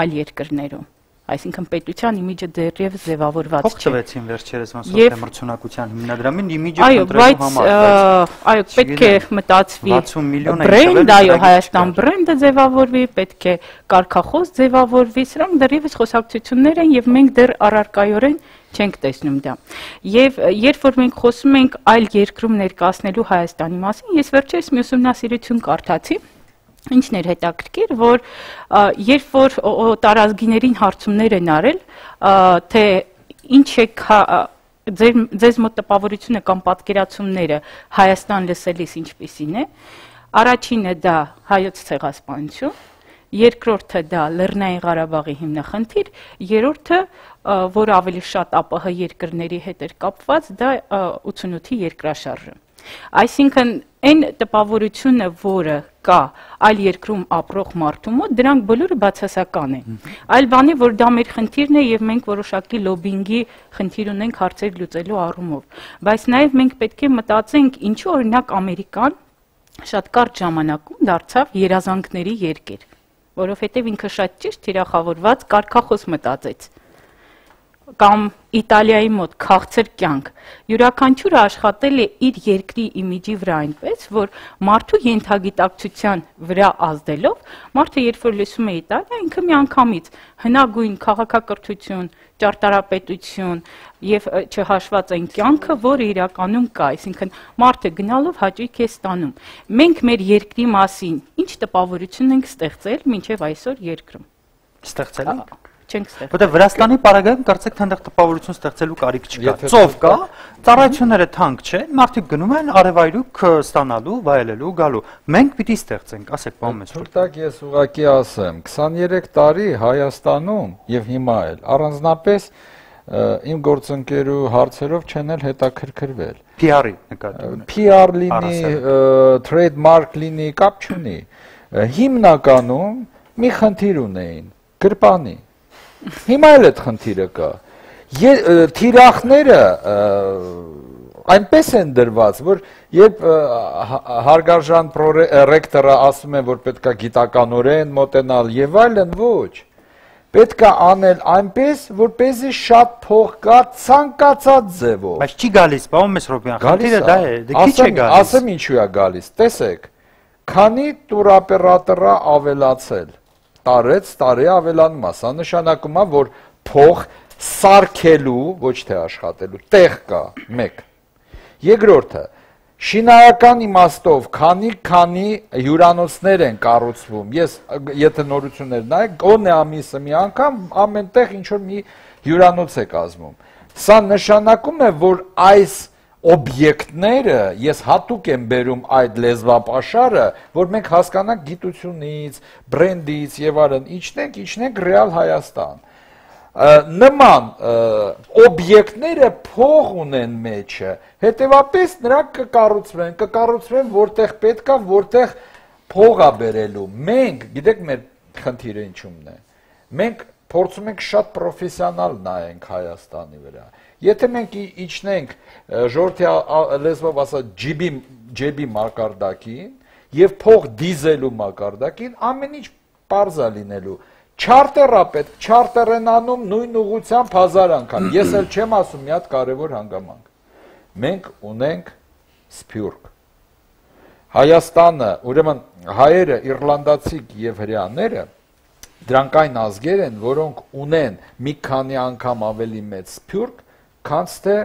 այլ երկրներում։ Այսինքն պետության իմիջը դեռևս ձևավորված չէ։ Փոխվեցին վերջերս մասնագիտության հիմնադրամին իմիջը կընտրելու համար, այո, պետք է մտածվի 60 միլիոն բրենդ, այո, Հայաստան բրենդը ձևավորվի, պետք է կարգախոս ձևավորվի, սրանք դեռևս խոսակցություններ են եւ մենք դեռ առարկայորեն չենք տեսնում դա։ Եվ երբ որ մենք խոսում ենք այլ երկրում ներկայացնելու Հայաստանի մասին, ես վերջերս մի ուսումնասիրություն կարդացի, ինչն էր հետաքրքիր, որ երբ որ տարազգիներին հարցումներ են արել, թե ինչ է ձեզ մոտ տպավորությունը կամ պատկերացումները Հայաստան լսելիս ինչպիսին է։ Առաջինը դա հայոց ցեղասպանություն, երկրորդը դա Լեռնային Ղարաբաղի հիմնախնդիր, երրորդը, որ ավելի շատ ԱՊՀ երկրների հետ էր կապված, դա 88-ի երկրաշարժը։ Այսինքն այն տպավորությունը, որը կա այլ երկրում ապրող մարդու մոտ, դրանք բոլորը բացասական են։ Այլ բանի, որ դա մեր խնդիրն է եւ մենք որոշակի լոբինգի խնդիր ունենք հարցեր լուծելու առումով։ Բայց նաեւ մենք պետք է մտածենք, ինչու օրինակ Ամերիկան շատ կարճ ժամանակում դարձավ երազանքների երկիր, որովհետեւ ինքը շատ ճիշտ թիրախավորված կարգախոս մտածեց։ Կամ Իտալիայի մոտ քաղցր կյանք, յուրաքանչյուրը աշխատել է իր երկրի իմիջի վրա այնպես, որ մարդու ենթագիտակցության վրա ազդելով, մարդը երբ որ լսում է Իտալիա, ինքը միանգամից հնագույն քաղաքակրթություն, ճարտարապետություն եւ չհաշված այն կյանքը, որը իրականում կա, այսինքն մարդը գնալով հաճույք է ստանում։ Մենք մեր երկրի մասին ինչ տպավորություն ենք ստեղծել մինչեւ այսօր երկրում։ Ստեղծել ենք։ Որտեղ Վրաստանի պարագայում կարծեք թե այնտեղ տպավորություն ստեղծելու կարիք չկա։ Ծով կա, ծառայությունները թանկ չեն, մարդիկ գնում են արևայրուք ստանալու, վայելելու, գալու։ Մենք պիտի ստեղծենք, ասեք, պարոն Մեսրոպ։ Թուրքտակ ես ուղղակի ասեմ, 23 տարի Հայաստանում եւ հիմա էլ առանձնապես իմ գործընկերու հարցերով չեն էլ հետաքրքրվել։ PR-ի նկատի։ PR լինի, trademark լինի, կապ չունի։ Հիմնականում մի խնդիր ունեին՝ գրպանի։ Հիմա էլ այդ խնդիրը կա։ Թիրախները այնպես են դրված, որ երբ հարգարժան ռեկտորը ասում է, որ պետքա գիտականորեն մոտենալ եւ այլն, ոչ։ Պետքա անել այնպես, որպեսզի շատ փող գա ցանկացած ձևով։ Բայց չի գալիս, պարոն Մեսրոպյան, խնդիրը դա է, դե քիչ է գալիս։ Ասեմ ինչու է գալիս։ Տեսեք, քանի տուրապերատորը ավելացել տարի ավելանում, սա նշանակում է, որ փող սարքելու, ոչ թե աշխատելու, տեղ կա, մեկ։ Երկրորդը, շինարական իմաստով, քանի հյուրանոցներ են կառուցվում, ես եթե նորություններ նայեք, գոնե ամիսը մի անգամ ամեն տեղ ինչ որ մի հյուրանոց է կազմում։ Սա նշանակում է, որ այս օբյեկտները, ես հատուկ եմ բերում այդ լեզվապաշարը, որ մենք հասկանանք գիտությունից, բրենդից եւ այլն, իջնենք ռեալ Հայաստան։ Նման օբյեկտները փող ունեն մեջը, հետեւապես նրանք կկառուցվեն, որտեղ պետքա, որտեղ փող է բերելու։ Մենք, գիտեք մեր խնդիրը ինչումն է։ Մենք փորձում ենք շատ պրոֆեսիոնալ նայենք Հայաստանի վրա։ Եթե մենք իջնենք ժողովրդի լեզվով ասած ջեբի մակարդակին եւ փող դիզելու մակարդակին, ամեն ինչ պարզ է լինելու։ Չարտերա պետք, չարտեր են անում նույն ուղղությամբ 1000 անգամ։ Ես էլ չեմ ասում մի հատ կարևոր հանգամանք։ Մենք ունենք սփյուռք։ Հայաստանը, ուրեմն հայերը, իռլանդացիք եւ հրեաները դրանք այն ազգեր են, որոնք ունեն մի քանի անգամ ավելի մեծ սփյուռք, քան թե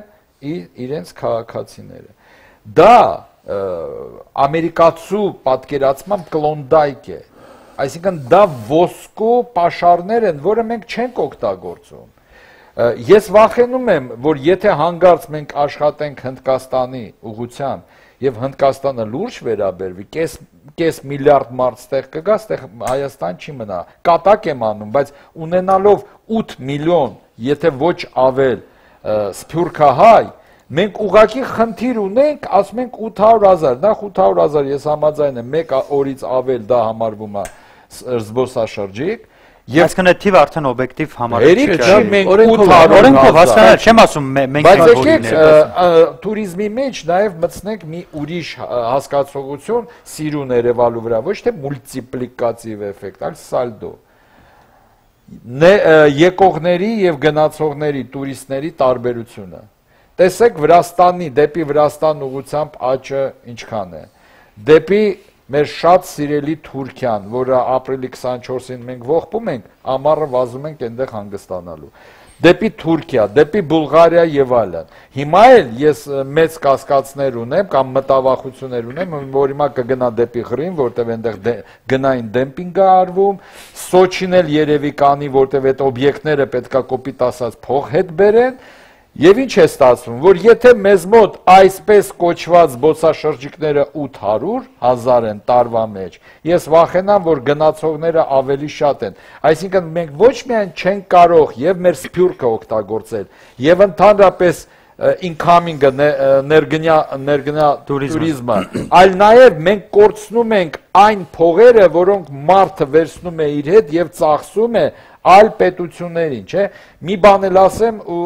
իրենց քաղաքացիները։ Դա ամերիկացու պատկերացմամբ կլոնդայք է, այսինքն դա ոսկու պաշարներ են, որը մենք չենք օգտագործում։ Ես վախենում եմ, որ եթե հանգարց մենք աշխատենք Հնդկաստանի ուղղությամբ եւ Հնդկաստանը լուրջ վերաբերվի, կես միլիարդ մարդ ստեղ կգա, ստեղ Հայաստան չի մնա։ Կատակ եմ անում, բայց ունենալով 8 միլիոն, եթե ոչ ավել սփյուռքահայ, մենք ուղղակի խնդիր ունենք, ասում ենք 800,000, նախ 800,000 ես համաձայն եմ, մեկ օրից ավել դա համարվում է զբոսաշրջիկ։ Այսինքն այդ թիվը արդեն օբյեկտիվ համարել չի, մենք օրենքով հասկանալ, չեմ ասում մենք բայց եկեք туриզմի մեջ նաև մտցնենք մի ուրիշ հասկացողություն սիրուն Երևանու վրա, ոչ թե մուլտիպլիկատիվ էֆեկտ, այլ սալդո։ Եկողների եւ գնացողների, տուրիստների տարբերությունը։ Տեսեք դեպի Վրաստան ուղղությամբ աճը ինչքան է։ Դեպի մեր շատ սիրելի Թուրքիան, որը ապրիլի 24-ին մենք ողբում ենք, ամառը վազում ենք այնտեղ հանգստանալու։ Դեպի Թուրքիա, դեպի Բուլղարիա եւ այլն։ Հիմա էլ ես մեծ կասկածներ ունեմ կամ մտավախություններ ունեմ, որ հիմա կգնա դեպի Ղրիմ, որտեղ այնտեղ գնային դեմպինգ է արվում, Սոչին էլ երևի կանի, որտեղ այդ օբյեկտները պետքա կոպիտ ասած փող հետ բերեն, Եվ ինչ է ստացվում, որ եթե մեզ մոտ այսպես կոչված զբոսաշրջիկները 800,000 են տարվա մեջ, ես վախենամ, որ գնացողները ավելի շատ են։ Այսինքն մենք ոչ միայն չենք կարող եւ մեր սփյուռքը օգտագործել, եւ ընդհանրապես incoming-ը ներգնա туриզմը, այլ նաեւ մենք կորցնում ենք այն փողերը, որոնք մարդը վերցնում է իր հետ եւ ծախսում է այլ պետություններին, չէ՞։ Մի բան էլ ասեմ ու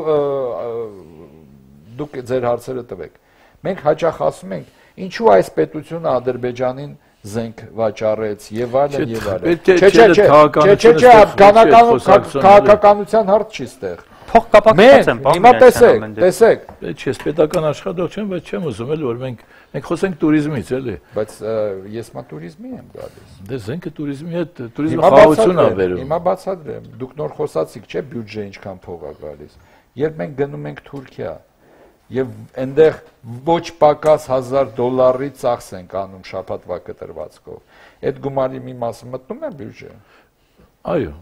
դուք ձեր հարցերը տվեք։ Մենք հաճախ ասում ենք, ինչու այս պետությունը Ադրբեջանին զենք վաճառեց եւ այլն եւ այլն։ Չէ, քաղաքականության հարց չի ստեղ։ Փող կապակցված են, հիմա տեսեք։ Չէ, պետական աշխատող չեմ, բայց չեմ ուզում էլ որ մենք խոսենք туриզմից, էլի։ Բայց ես մա туриզմի եմ գալիս։ Դե զենքը туриզմի հետ, туриզմը խաղաղություն է բերում։ Հիմա բացատրեմ, դուք նոր խոսացիք, չէ՞, բյուջե ինչքան փող է գալիս։ Երբ մենք գնում ենք Թուրքիա եւ այնտեղ ոչ պակաս $1000 ծախս ենք անում շաբաթվա կտրվածքով, այդ գումարի մի մասը մտնում է բյուջե։ Այո։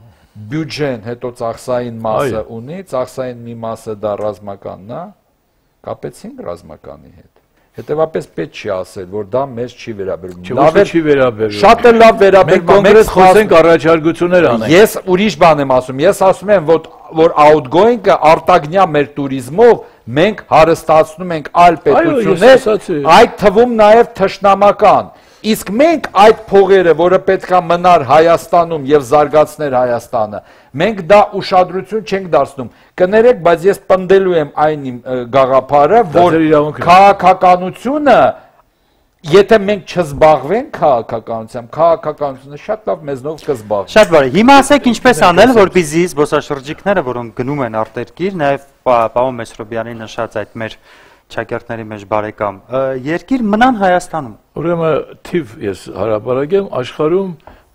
Բյուջեն հետո ծախսային մասը ունի, ծախսային մի մասը դա ռազմականն է, կապեցինք ռազմականի հետ։ Հետևաբար պետք չի ասել, որ դա մեզ չի վերաբերում։ Լավ է չի վերաբերում։ Շատ է լավ վերաբերում։ Մենք կոնկրետ խոսենք առաջարկություններ անենք։ Ես ուրիշ բան եմ ասում։ Ես ասում եմ, որ outgoing-ը արտագնյա մեր туриզմով մենք հարստացնում ենք այլ պետություններ, այդ թվում նաև թշնամական։ Իսկ մենք այդ փողերը, որը պետքա մնար Հայաստանում եւ զարգացներ Հայաստանը, մենք դա ուշադրություն չենք դարձնում։ Կներեք, բայց ես պնդելու եմ այն իմ գաղափարը, որ քաղաքականությունը, եթե մենք չզբաղվենք քաղաքականությամբ, քաղաքականությունը շատ լավ մեզնով կզբաղվի։ Շատ բարի։ Հիմա ասեք ինչպես անել, որպեսզի զբոսաշրջիկները, որոնք գնում են արտերկիր, նաեւ պարոն Մեսրոբյանի նշած այդ մեր Չակերտների մեջ բարեկամ, երկիր մնան Հայաստանում։ Ուրեմն թիվ ես հարաբերակեմ աշխարհում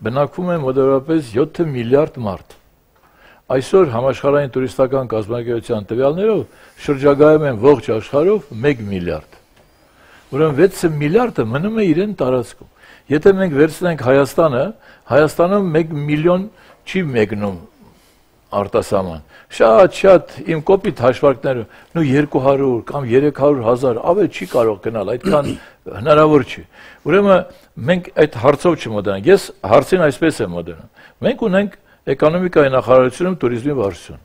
բնակվում է մոտավորապես 7 միլիարդ մարդ։ Այսօր համաշխարհային տուրիստական կազմակերպության տվյալներով շրջագայում են ողջ աշխարհով 1 միլիարդ։ Ուրեմն 6 միլիարդը մնում է իրեն տարածքում։ Եթե մենք վերցնենք Հայաստանը, Հայաստանում 1 միլիոն չի մեկնում արտասահման։ Շատ իմ կոպիտ հաշվարկները, նո 200 կամ 300,000 ավել չի կարող գնալ, այդքան հնարավոր չի։ Ուրեմն մենք այդ հարցով չմոտենանք։ Ես հարցին այսպես եմ մոտենում։ Մենք ունենք էկոնոմիկայի նախարարությունում туриզմի վարչություն։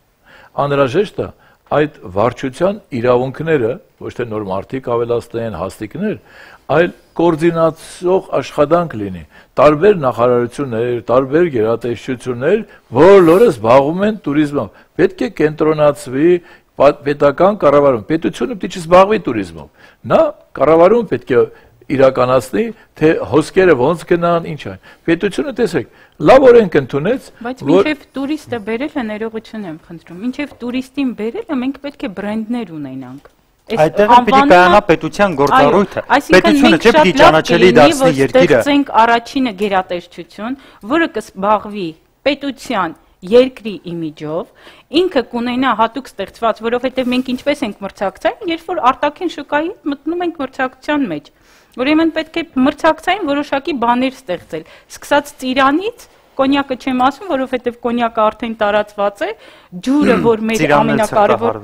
Անհրաժեշտ է այդ վարչության իրավունքները, ոչ թե նոր մարդիկ ավելացնեն հաստիկներ, այլ կոորդինացող աշխատանք լինի։ Տարբեր նախարարություններ, տարբեր գերատեսչություններ, բոլորը զբաղվում են туриզմով։ Պետք է կենտրոնացվի պետական կառավարում։ Պետությունը պետք է զբաղվի туриզմով։ Նա կառավարում պետք է իրականացնի, թե հոսքերը ոնց գնան, ինչ այն։ Պետությունը տեսեք, լավ օրենք ընդունեց, բայց մինչև տուրիստը բերել է ներողություն եմ խնդրում։ Մինչև տուրիստին բերելը մենք պետք է բրենդներ ունենանք։ Այդտեղ պիտի կայանա պետության գործառույթը։ Պետությունը չէ պիտի ճանաչելի դարձնի երկիրը։ Ստեղծենք առաջինը գերատեսչություն, որը կզբաղվի պետության երկրի իմիջով, ինքը կունենա հատուկ ստեղծված, որովհետև մենք ինչպես ենք մրցակցային, երբ որ արտաքին շուկայի մտնում ենք մրցակցության մեջ։ Ուրեմն պետք է մրցակցային որոշակի բաներ ստեղծել, սկսած ծիրանից, կոնյակը չեմ ասում, որովհետև կոնյակը արդեն տարածված է, ջուրը, որ մեր ամենակարևոր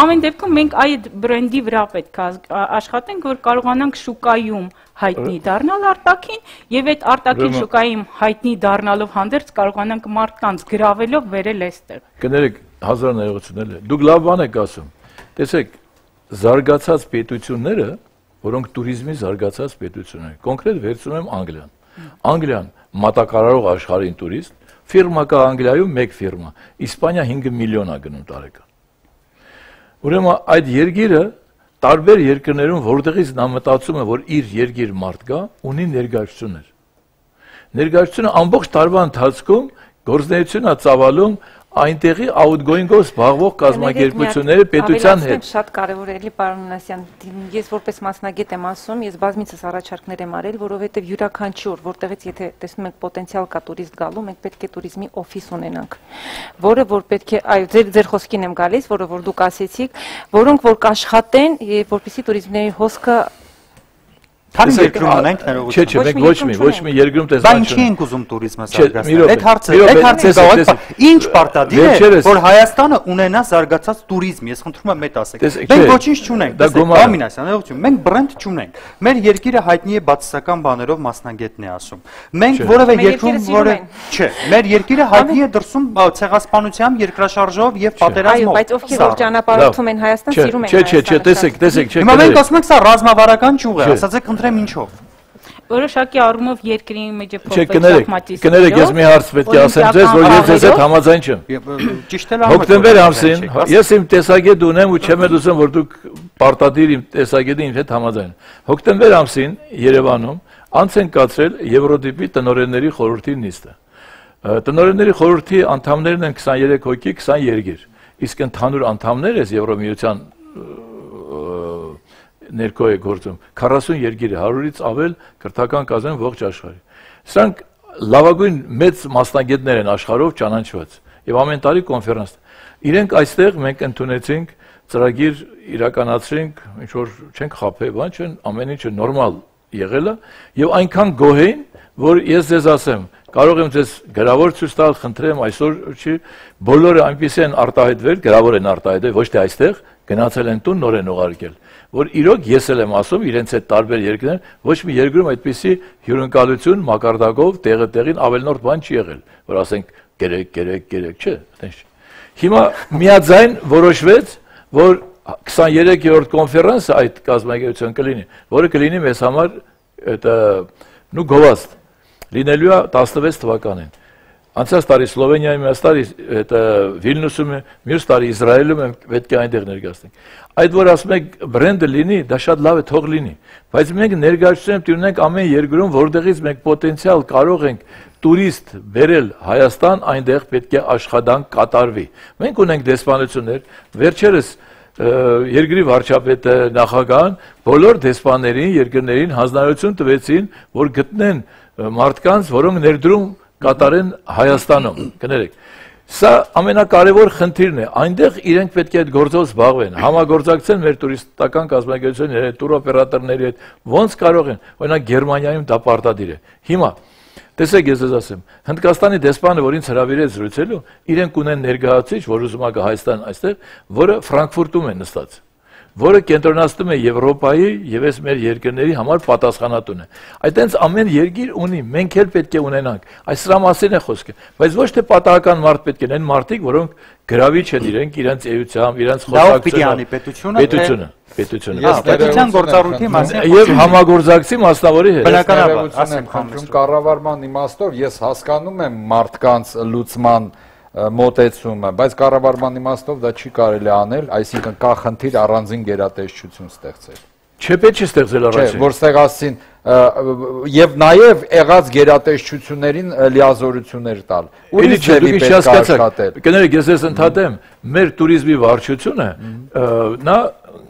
ամեն դեպքում մենք այդ բրենդի վրա պետք է աշխատենք, որ կարողանանք շուկայում հայտնի դառնալ արտաքին եւ այդ արտաքին շուկայում հայտնի դառնալով հանդերձ կարողանանք մարդկանց գրավելով վերել այստեղ։ Կներեք, հազար ներողություններ։ Դուք լավ բան եք ասում։ Տեսեք, զարգացած պետությունները, որոնք туриզմի զարգացած պետություններ են, կոնկրետ վերցնում եմ Անգլիան։ Անգլիան մատակարարող աշխարհին տուրիստ, ֆիրմա կա Անգլիայում 1 ֆիրմա, Իսպանիա 5 միլիոն է գնում տարեկան։ Ուրեմն այդ երկիրը տարբեր երկրներում, որտեղից նա մտածում է, որ իր երկիր մարդ կա, ունի ներկայացություններ։ Ներկայացությունը ամբողջ տարվա ընթացքում գործունեություն է ծավալում այնտեղի outgoing-ով զբաղվող կազմակերպությունների պետության հետ։ Շատ կարևոր է, էլի պարոն Մինասյան, ես որպես մասնագետ եմ ասում, ես բազմիցս առաջարկներ եմ արել, որովհետև յուրաքանչյուր, որտեղից եթե տեսնում ենք պոտենցիալ կա տուրիստ գալու, մենք պետք է туриզմի օֆիս ունենանք, որը որ պետք է, այո, ձեր խոսքին եմ գալիս, որը որ դուք ասեցիք, որոնք որ կաշխատեն, որպեսզի туриզմների հոսքը Քանի երկրում ունենք ներողություն։ Չէ, մենք ոչ մի երկրում Բա տեսան ինչի ենք ուզում տուրիզմը զարգացնել։ մի Այդ հարցը ինչ պարտադիր է, որ Հայաստանը ունենա զարգացած տուրիզմ։ Ես խնդրում եմ այդ ասեք։ Մենք ոչինչ չունենք։ Ամինասյան, ներողություն, մենք բրենդ չունենք։ Մեր երկիրը հայտնի է բացասական բաներով, մասնագետն է ասում։ Մենք որևէ երկրում որը չէ, մեր երկիրը հայտնի է դրսում ցեղասպանությամբ, երկրաշարժով եւ պատերազմով։ Բայց ովքեր որ ճանապարհորդում են Հայաստան, սիրում են Հայաստանը։ Չէ, տեսեք, Հիմա մենք ասում ենք սա ռազմավարական ճյուղ է, ասացեք խնդրեմ ինչով։ Որոշակի առումով երկրի մեջ է Չէ, կներեք, ես մի հարց պետք է ասեմ ձեզ, որ ես ձեզ հետ համաձայն չեմ։ Ճիշտ է լավ։ Հոկտեմբեր ամսին ես իմ տեսակետ ունեմ ու չեմ ուզում որ դուք պարտադիր իմ տեսակետի ինձ հետ համաձայն։ Հոկտեմբեր ամսին Երևանում անց են կացրել Եվրոդիպի տնօրենների խորհրդի նիստը։ Տնօրենների խորհրդի անդամներն են 23 հոգի, 20 երկիր։ Իսկ ընդհանուր անդամներս Եվրոմիության ներքո է գործում 40 երկիր է 100-ից ավել քրթական կազմ ողջ աշխարհի։ Սրանք լավագույն մեծ մասնագետներ են աշխարհով ճանաչված եւ ամեն տարի կոնֆերանս։ Իրենք այստեղ մենք ընդունեցինք ծրագիր իրականացրինք, ինչ որ չենք խափել, բան չեն, ամեն ինչը նորմալ եղել է եւ այնքան գոհ էին, որ ես ձեզ ասեմ, կարող եմ ձեզ գրավոր ցույց տալ, խնդրեմ, այսօր չի, բոլորը այնպեսի են արտահայտվել, գրավոր են արտահայտվել, ոչ թե այստեղ գնացել են տուն նոր են ուղարկել, որ իրոք ես էլ եմ ասում իրենց այդ տարբեր երկրներ, ոչ մի երկրում այդպիսի հյուրընկալություն մակարդակով տեղին ավելնորդ բան չի եղել, որ ասենք գերեք, չէ, այդպես։ Հիմա միաձայն որոշվեց, որ 23-րդ կոնֆերանսը այդ կազմակերպության կլինի, որը կլինի մեզ համար գովազդ լինելու է 16 թվականին։ Անցած տարի Սլովենիայում, այս տարի Վիլնյուսում, մյուս տարի Իսրայելում պետք է այնտեղ ներկայացնենք։ Այդ որ ասում եք բրենդը լինի, դա շատ լավ է, թող լինի, բայց մենք ներկայացնում ունենք ամեն երկրում, որտեղից մենք պոտենցիալ կարող ենք տուրիստ բերել Հայաստան, այնտեղ պետք է աշխատանք կատարվի։ Մենք ունենք դեսպանություններ, վերջերս երկրի վարչապետը նախագահան բոլոր դեսպաններին, երկրներին հանձնարարություն տվեցին, որ գտնեն մարդկանց, որոնք ներդրում կատարեն Հայաստանում, կներեք։ Սա ամենակարևոր խնդիրն է, այնտեղ իրենք պետք է այդ գործով զբաղվեն, համագործակցեն մեր տուրիստական կազմակերպությունների հետ, տուրօպերատորների հետ, ոնց կարող են, օրինակ Գերմանիայում դա պարտադիր է։ Հիմա տեսեք ես ասեմ, Հնդկաստանի դեսպանը, որ ինձ հրավիրեց զրուցելու, իրենք ունեն ներկայացուցիչ, որ ուզում է գա Հայաստան այստեղ, որը Ֆրանկֆուրտում է նստած, որը կենտրոնացնում է Եվրոպայի եւ այս մեր երկրների համար պատասխանատուն է։ Այդտենց ամեն երկիր ունի, մենք էլ պետք է ունենանք։ Այս սրա մասին է խոսքը, բայց ոչ թե պատահական մարդ պետք է լինեն մարդիկ, որոնք գրավիչ են իրենց էությամբ, իրենց խոսակցությունը, պետությունը։ Պետության գործառույթի մասին եւ համագործակցի մասնավորի հետ։ Բնականաբար, ասեմ, խնդրում կառավարման իմաստով ես հասկանում եմ մարդկանց լուծման մոտեցումը, բայց կառավարման իմաստով դա չի կարելի անել, այսինքն կա խնդիր առանձին գերատեսչություն ստեղծել։ Չէ, պետք չի ստեղծել առաջին։ Չէ, որ ստեղծին եւ նաեւ եղած գերատեսչություններին լիազորություններ տալ։ Ուրիշ ձևի պետք է աշխատել։ Կներեք, ես ես ընդհատեմ, մեր туриզմի վարչությունը նա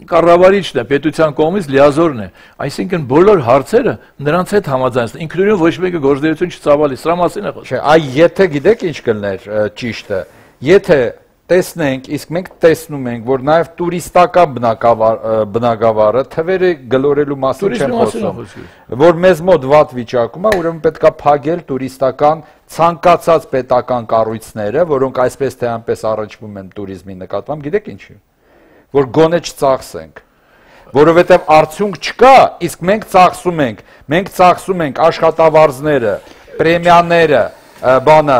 կառավարիչն է, պետության կողմից լիազորն է։ Այսինքն բոլոր հարցերը նրանց հետ համաձայնեցին։ Ինքնուրույն ոչ մեկը գործունեություն չծավալի, սրա մասին է խոսքը։ Չէ, այ եթե գիտեք ինչ կլներ ճիշտը, եթե տեսնենք, իսկ մենք տեսնում ենք, որ նաև տուրիստական բնակավարը թվերը գլորելու մասին չեմ խոսում, որ մեզ մոտ վատ վիճակում է, ուրեմն պետք է փակել տուրիստական ցանկացած պետական կառույցները, որոնք այսպես թե այնպես առնչվում են туриզմի նկատմամբ, գիտեք ինչի՞։ Որ գոնե չծախսենք, որովհետև արդյունք չկա, իսկ մենք ծախսում ենք աշխատավարձները, պրեմիաները, բանը,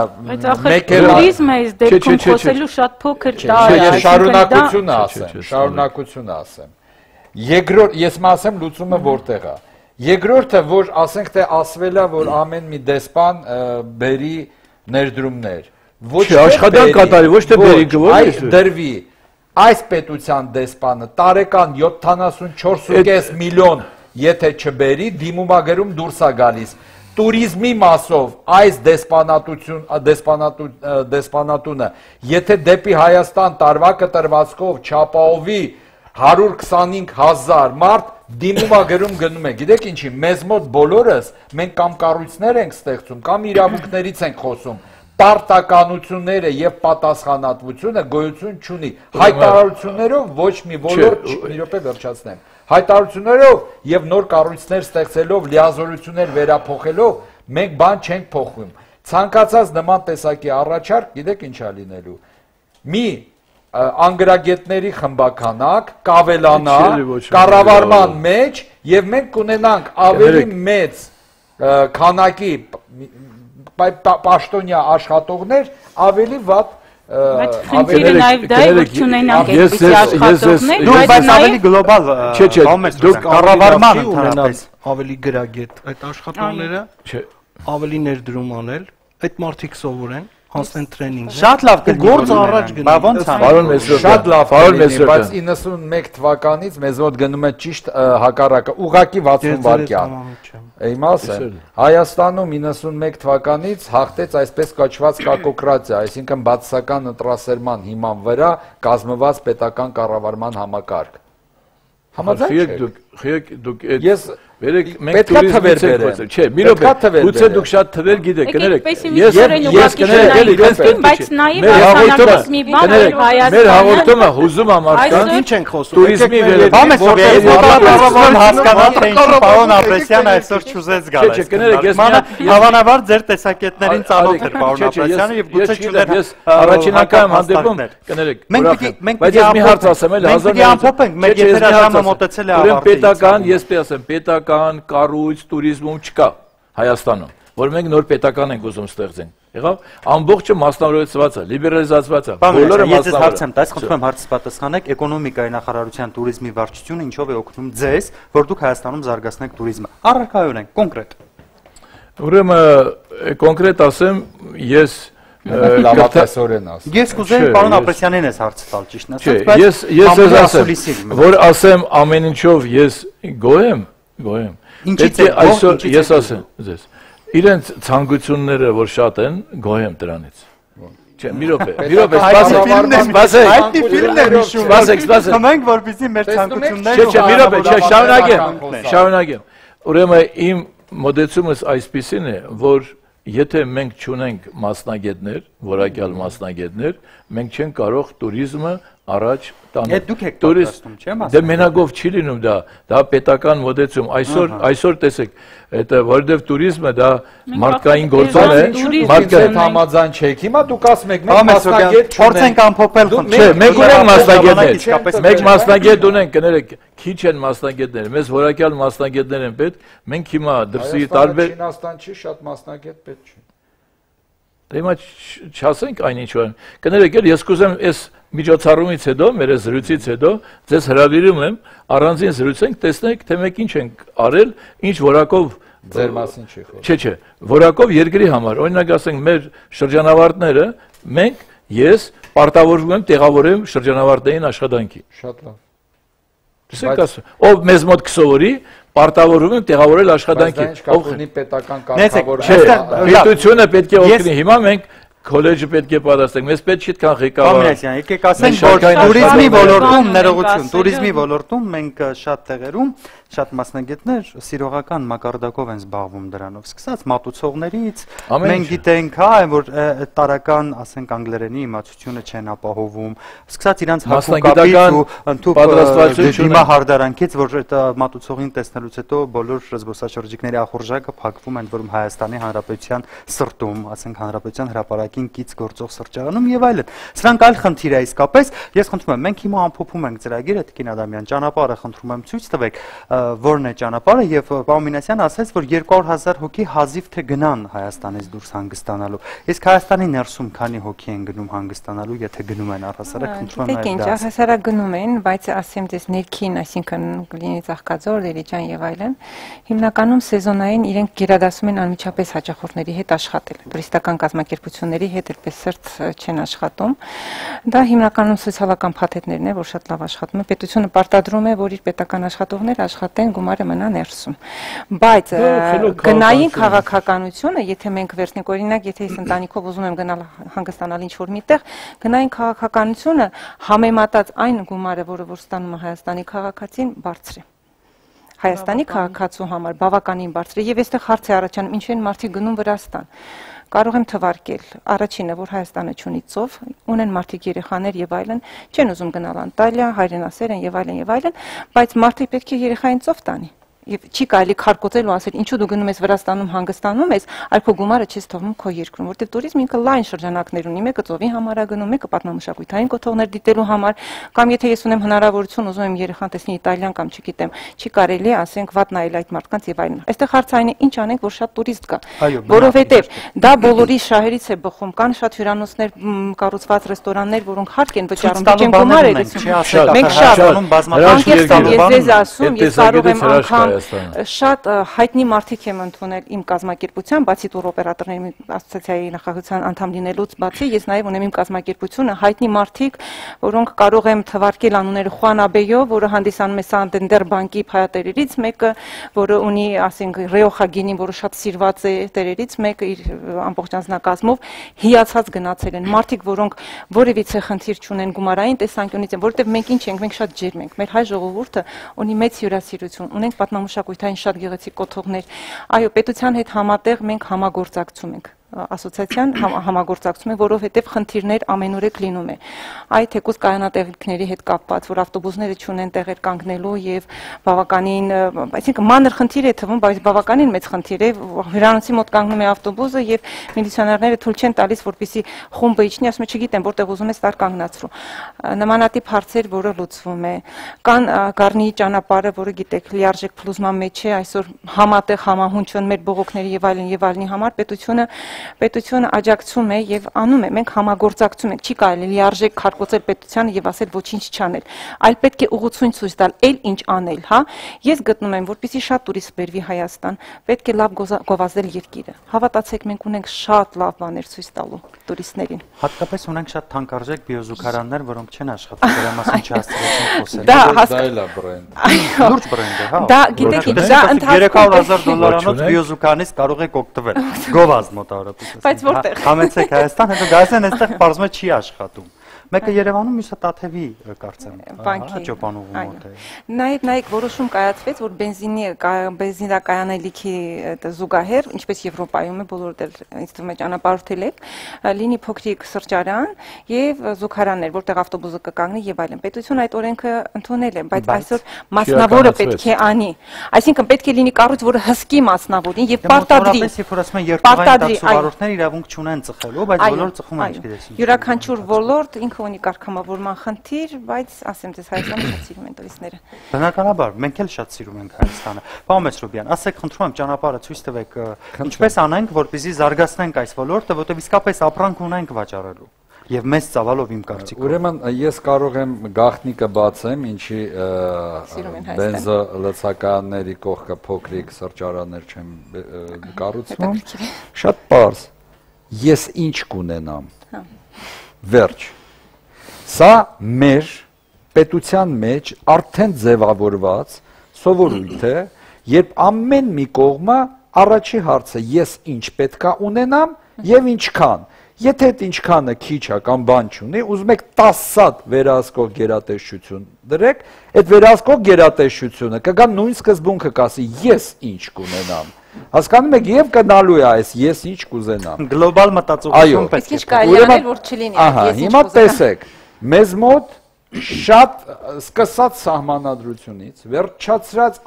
туриզմը այս դեպքում խոսելու շատ փոքր տար է, շարունակությունը ասեմ։ Երկրորդ, ես ասեմ լուծումը որտեղ է։ Երկրորդը, որ ասենք թե ասվել է, որ ամեն մի դեսպան բերի ներդրումներ։ Ոչ թե աշխատանք կատարի, ոչ թե բերի, այլ դրվի։ Այս պետության դեսպանը տարեկան 74.5 միլիոն եթե չբերի, դիմումագերում դուրս է գալիս։ Տուրիզմի մասով այս դեսպանատունը, եթե դեպի Հայաստան տարվա կտրվածքով չապահովի 125,000 մարդ, դիմումագերում գնում է։ Գիտեք ինչի, մեզ մոտ բոլորս մենք կամ կառույցներ ենք ստեղծում, կամ իրավունքներից ենք խոսում, պարտականությունները եւ պատասխանատվությունը գոյություն չունի։ Հայտարարություններով ոչ մի ոլորտ մի րոպե վերջացնեմ։ Հայտարարություններով եւ նոր կառույցներ ստեղծելով, լիազորություններ վերափոխելով մենք բան չենք փոխում։ Ցանկացած նման տեսակի առաջարկ, գիտեք ինչ է լինելու։ Մի անգրագետների խմբականակ կավելանա կառավարման մեջ եւ մենք կունենանք ավելի մեծ քանակի պաշտոնյա աշխատողներ, ավելի վատ Խնդիրը նաև դա է, որ չունենանք այդպիսի աշխատողներ, բայց ավելի գլոբալ դուք կառավարման ունենալ ավելի գրագետ այդ աշխատողները, ավելի ներդրում անել, այդ մարդիկ սովորեն, հանցնեն տրեյնինգ։ Շատ լավ գործը առաջ գնա։ Ոնց է։ Պարոն Մեսրոպյան, շատ լավ, պարոն Մեսրոպյան, բայց 91 թվականից մեզ մոտ գնում է ճիշտ հակառակը, ուղղակի 60 վայրկյան։ Իմասը Հայաստանում 91 թվականից հաղթեց այսպես կոչված կակոկրատիա, այսինքն բացասական ընտրասերման հիման վրա կազմված պետական կառավարման համակարգ։ Համաձայն եք դուք Ես Վերեք մենք տուրիզմից ենք խոսել։ Չէ, մի րոպե։ Գուցե դուք շատ թվեր գիտեք, կներեք։ Ես կներեք, բայց նաև հաղորդումս մի բան է Հայաստանը։ Մեր հաղորդումը հուզում է մարդկանց։ Ինչ ենք խոսում։ Տուրիզմի Բամեսով հասկանալ թե ինչի պարոն Ապրեսյանը այսօր չուզեց գալ։ Չէ, կներեք, ես հավանաբար ձեր տեսակետներին ծանոթ էր պարոն Ապրեսյանը եւ գուցե չուներ ես առաջին անգամ հանդիպում կներեք։ Բայց ես մի հարց ասեմ, էլ 1900 մեր եթերաժամը մոտեցել է ավարտին։ Պետական, ես ասեմ, պետական կառույց տուրիզմում չկա Հայաստանում, որ մենք նոր պետական ենք ուզում ստեղծենք։ Եղավ, ամբողջը մասնավորեցված է, լիբերալիզացված է, բոլորը մասնավոր։ Ես հարցեմ, դες խնդրում եմ հարցս պատասխանեք, էկոնոմիկայի նախարարության տուրիզմի վարչությունը ինչով է օգնում ձեզ, որ դուք Հայաստանում զարգացնեք տուրիզմը։ Առարկայորեն, կոնկրետ։ Ուրեմն կոնկրետ ասեմ, ես լավատեսորեն ասեմ։ Ես կուզեի պարոն Ապրեսյանին ես հարց տալ, ճիշտ ասած, բայց ես ասեմ, որ ասեմ ամեն ինչով ես գոհ եմ։ Ինչի՞ց է այսօր ես ասեմ ձեզ։ Իրենց ցանկությունները որ շատ են, գոհ եմ դրանից։ Չէ, մի րոպե, սպասեք։ Խմենք, որպեսզի մեր ցանկությունները Չէ, մի րոպե, շարունակեմ։ Ուրեմն իմ մոդեցումս այսպեսին է, որ եթե մենք չունենք մասնագետներ, որակյալ մասնագետներ, մենք չենք կարող տուրիզմը առաջ տանել։ Դուք եք պատրաստում, չեմ ասում։ Դե մենակով չի լինում դա պետական մոդեցում։ Այսօր տեսեք, это որովհետև տուրիզմը դա մարդկային գործոն է, մարդկային համաձայն չեք։ Հիմա դուք ասում եք մենք մասնագետ փորձենք ամփոփել խնդիրը։ Չէ, մենք ունենք մասնագետներ։ Մենք մասնագետ ունենք, կներեք, քիչ են մասնագետները, մեզ որակյալ մասնագետներ են պետք։ Մենք հիմա դրսի տարբեր Չինաստան չի, շատ մասնագետ պետք չի։ Դե հիմա չասենք այնինչ որ կներեք, ես կուզեմ այս միջոցառումից հետո, մեր զրույցից հետո ձեզ հրավիրում եմ առանձին զրույցենք, տեսնենք թե մենք ինչ ենք արել, ինչ որակով ձեր մասին չի խոսում։ Չէ, որակով երկրի համար։ Օրինակ ասենք մեր շրջանավարտները, մենք ես պարտավորվում եմ տեղավորեմ շրջանավարտային աշխատանքի։ Շատ լավ։ Ով մեզ մոտ կսովորի, պարտավորվում եմ տեղավորել աշխատանքի։ Ով ունի պետական կարգավորում։ Պետությունը պետք է օգնի։ Հիմա մենք քոլեջը պետք է պատասխանենք։ Մեզ պետք չի այդքան ղեկավար։ Բամենասյան, եկեք ասենք, որ տուրիզմի ոլորտում ներողություն, տուրիզմի ոլորտում մենք շատ տեղերում շատ մասնագետներ սիրողական մակարդակով են զբաղվում դրանով, սկսած մատուցողներից, մենք գիտենք, որ տարական, ասենք անգլերենի իմացությունը չեն ապահովում, սկսած իրանց հակուկապից ու ընդհանուր դիմահարդարանքից, որ այդ մատուցողին տեսնելուց հետո բոլոր զբոսաշրջիկների ախորժակը փակվում են, որում Հայաստանի Հանրապետության սրտում, ասենք Հանրապետության հրապարակին կից գործող սրճարանում եւ այլն։ Սրանք այլ խնդիր է իսկապես, ես խնդրում եմ, մենք հիմա ամփոփում ենք ծրագիրը, Տիկին Ադամյան, ճանապարհը խնդրում եմ ցույց տվեք, որն է ճանապարհը եւ պարոն Մինասյանը ասաց, որ 200,000 հոգի հազիվ թե գնան Հայաստանից դուրս հանգստանալու։ Իսկ Հայաստանի ներսում քանի հոգի են գնում հանգստանալու, եթե գնում են առհասարակ, խնդրում եմ այլ դա։ Առհասարակ գնում են, բայց ասեմ դες ներքին, այսինքն կլինի Ծաղկաձոր, Դերիջան եւ այլն, հիմնականում սեզոնային իրենք գերադասում են անմիջապես հաճախորդների հետ աշխատել։ Տուրիստական կազմակերպությունների հետ այդպես սրտ չեն աշխատում։ Դա հիմնականում սոցիալական փաթեթներն է, որ շատ լավ աշխատում են։ Պետությունը պարտադրում է, որ իր պետական աշխատողները աշխատեն, գումարը մնա ներսում։ Բայց գնային քաղաքականությունը, եթե մենք վերցնենք օրինակ, եթե ես ընտանիքով ուզում եմ գնալ հանգստանալ ինչ-որ միտեղ, գնային քաղաքականությունը համեմատած այն գումարը, որը որ ստանում է Հայաստանի քաղաքացին, բարձր է։ Հայաստանի քաղաքացու համար բավականին բարձր է եւ այստեղ հարց է առաջանում ինչ են մարդիկ գնում Վրաստան։ Կարող եմ թվարկել առաջինը, որ Հայաստանը չունի ծով, ունեն մարդիկ երեխաներ եւ այլն, չեն ուզում գնալ Անտալիա, հայրենասեր են եւ այլն, բայց մարդիկ պետք է երեխային ծով տանի։ Եվ չի կարելի քարկոծել ու ասել ինչու դու գնում ես Վրաստանում հանգստանում ես, այլ քո գումարը չես թողնում քո երկրում, որտեղ туриզմը ինքը լայն շրջանակներ ունի, մեկը ծովի համար է գնում, մեկը պատմամշակութային կոթողներ դիտելու համար, կամ եթե ես ունեմ հնարավորություն ուզում եմ երեխան տեսնի Իտալիան կամ չգիտեմ, չի կարելի ասենք վատ նայել այդ մարդկանց եւ այլն։ Այստեղ հարցը այն է, ինչ անենք, որ շատ турист կա, որովհետեւ դա բոլորի շահերից է բխում, կան շատ հյուրանոցներ, կառուցված ռեստորաններ, որոնք հարկ են վճարում, դիճեն գումար է գցում։ Մենք շատ շատ հայտնի մարդիկ եմ ընդունել իմ կազմակերպության, բացի տուրօպերատորների ասոցիացիայի նախագահության անդամ լինելուց բացի, ես նաև ունեմ իմ կազմակերպությունը հայտնի մարդիկ, որոնք կարող եմ թվարկել անունները Խուան Աբեյո, որը հանդիսանում է Սանդենդեր բանկի փայատերերից մեկը, որը ունի, ասենք, Ռեոխա գինին, որը շատ սիրված է տերերից մեկը իր ամբողջ անձնակազմով հիացած գնացել են մարդիկ, որոնք որևիցե խնդիր չունեն գումարային տեսանկյունից, որովհետև մենք ինչ ենք, մենք շատ ջերմ ենք, մեր հայ ժողովուրդը ունի մեծ հյուրասիրություն, ունենք պատմամշակութային շատ գեղեցիկ կոթողներ, այո, պետության հետ համատեղ մենք համագործակցում ենք, ասոցիացիան համագործակցում է, որովհետև խնդիրներ ամենուրեք լինում է։ Այդ թեկուզ կայանատեղիքների հետ կապված, որ ավտոբուսները չունեն տեղեր կանգնելու եւ բավականին, այսինքն մանր խնդիր է թվում, բայց բավականին մեծ խնդիր է, հյուրանոցի մոտ կանգնում է ավտոբուսը եւ միլիցիաներները թույլ չեն տալիս, որպեսզի խումբը իջնի, ասում է չգիտեմ, որտեղ ուզում ես տար կանգնացրու։ Նմանատիպ հարցեր, որը լուծվում է։ Կան Գառնիի ճանապարհը, որը գիտեք, լիարժեք փլուզման մեջ է, այսօր համատեղ համահունչ են մեր բողոքների եւ այլնի համար պետությունը աջակցում է եւ անում է, մենք համագործակցում ենք, չի կարելի լիարժեք քարկոծել պետությանը եւ ասել ոչինչ չանել, այլ պետք է ուղղություն ցույց տալ, ինչ անել, հա։ Ես գտնում եմ, որպեսզի շատ տուրիստ բերվի Հայաստան, պետք է լավ գովազդել երկիրը։ Հավատացեք, մենք ունենք շատ լավ բաներ ցույց տալու տուրիստներին։ Հատկապես ունենք շատ թանկարժեք բիոզուգարաններ, որոնք չեն աշխատում, դրա մասին չհասցրեցին խոսել։ Դա էլ է բրենդ։ Լուրջ բրենդ է, հա։ Դա գիտեք, դա $300,000 բիոզուգանից կարող եք օգտվել։ Գովազդ մոտավորապես։ Բայց որտեղ։ Համեցեք Հայաստան, հետո գալիս են այստեղ պարզվում է չի աշխատում։ Մեկը Երևանում, մյուսը Տաթևի կարծեմ, ճոպանուղու մոտ է։ Նաև որոշում կայացվեց, որ բենզինակայանելիքի զուգահեռ, ինչպես Եվրոպայում է, բոլորդ էլ ինձ թվում է ճանապարհորդել եք, լինի փոքրիկ սրճարան եւ զուգարաններ, որտեղ ավտոբուսը կկանգնի եւ այլն։ Պետությունը այդ օրենքը ընդունել է, բայց այսօր մասնավորը պետք է անի։ Այսինքն պետք է լինի կառույց, որը հսկի մասնավորին եւ պարտադրի։ Երբ որ ասում են երկրային տաքսովարորդները իրավունք չունեն ծխելու, բայց բոլորը ծխում են, չգիտես ինչ։ Յուրաքանչյուր ոլորտ ինքը ունի կարգամավորման խնդիր, բայց ասեմ ձեզ Հայաստանը շատ սիրում են տուրիստները։ Բնականաբար, մենք էլ շատ սիրում ենք Հայաստանը։ Պարոն Մեսրոբյան, ասեք, խնդրում եմ, ճանապարհը ցույց տվեք, ինչպես անենք, որպեսզի զարգացնենք այս ոլորտը, որտեղ իսկապես ապրանք ունենք վաճառելու։ Եվ մեծ ծավալով իմ կարծիքով։ Ուրեմն ես կարող եմ գաղտնիքը բացեմ, ինչի բենզոլցականների կողքը փոքրիկ սրճարաններ չեմ կառուցվում։ Շատ պարզ։ Ես ինչ կունենամ։ Վերջ։ Սա մեր պետության մեջ արդեն ձևավորված սովորույթ է, երբ ամեն մի կողմը առաջի հարցը ես ինչ պետքա ունենամ եւ ինչքան։ Եթե այդ ինչքանը քիչ է կամ բան չունի, ուզում եք 10 սատ վերահսկող գերատեսչություն դրեք, այդ վերահսկող գերատեսչությունը կգա նույն սկզբունքը կասի ես ինչ կունենամ։ Հասկանում եք, եւ կնալու է այս ես ինչ կուզենամ։ Գլոբալ մտածողություն պետք է։ Իսկ ինչ կարելի անել, որ չլինի ես ինչ կուզենամ։ Հիմա տեսեք, մեզ մոտ շատ սկսած սահմանադրությունից վերջացրած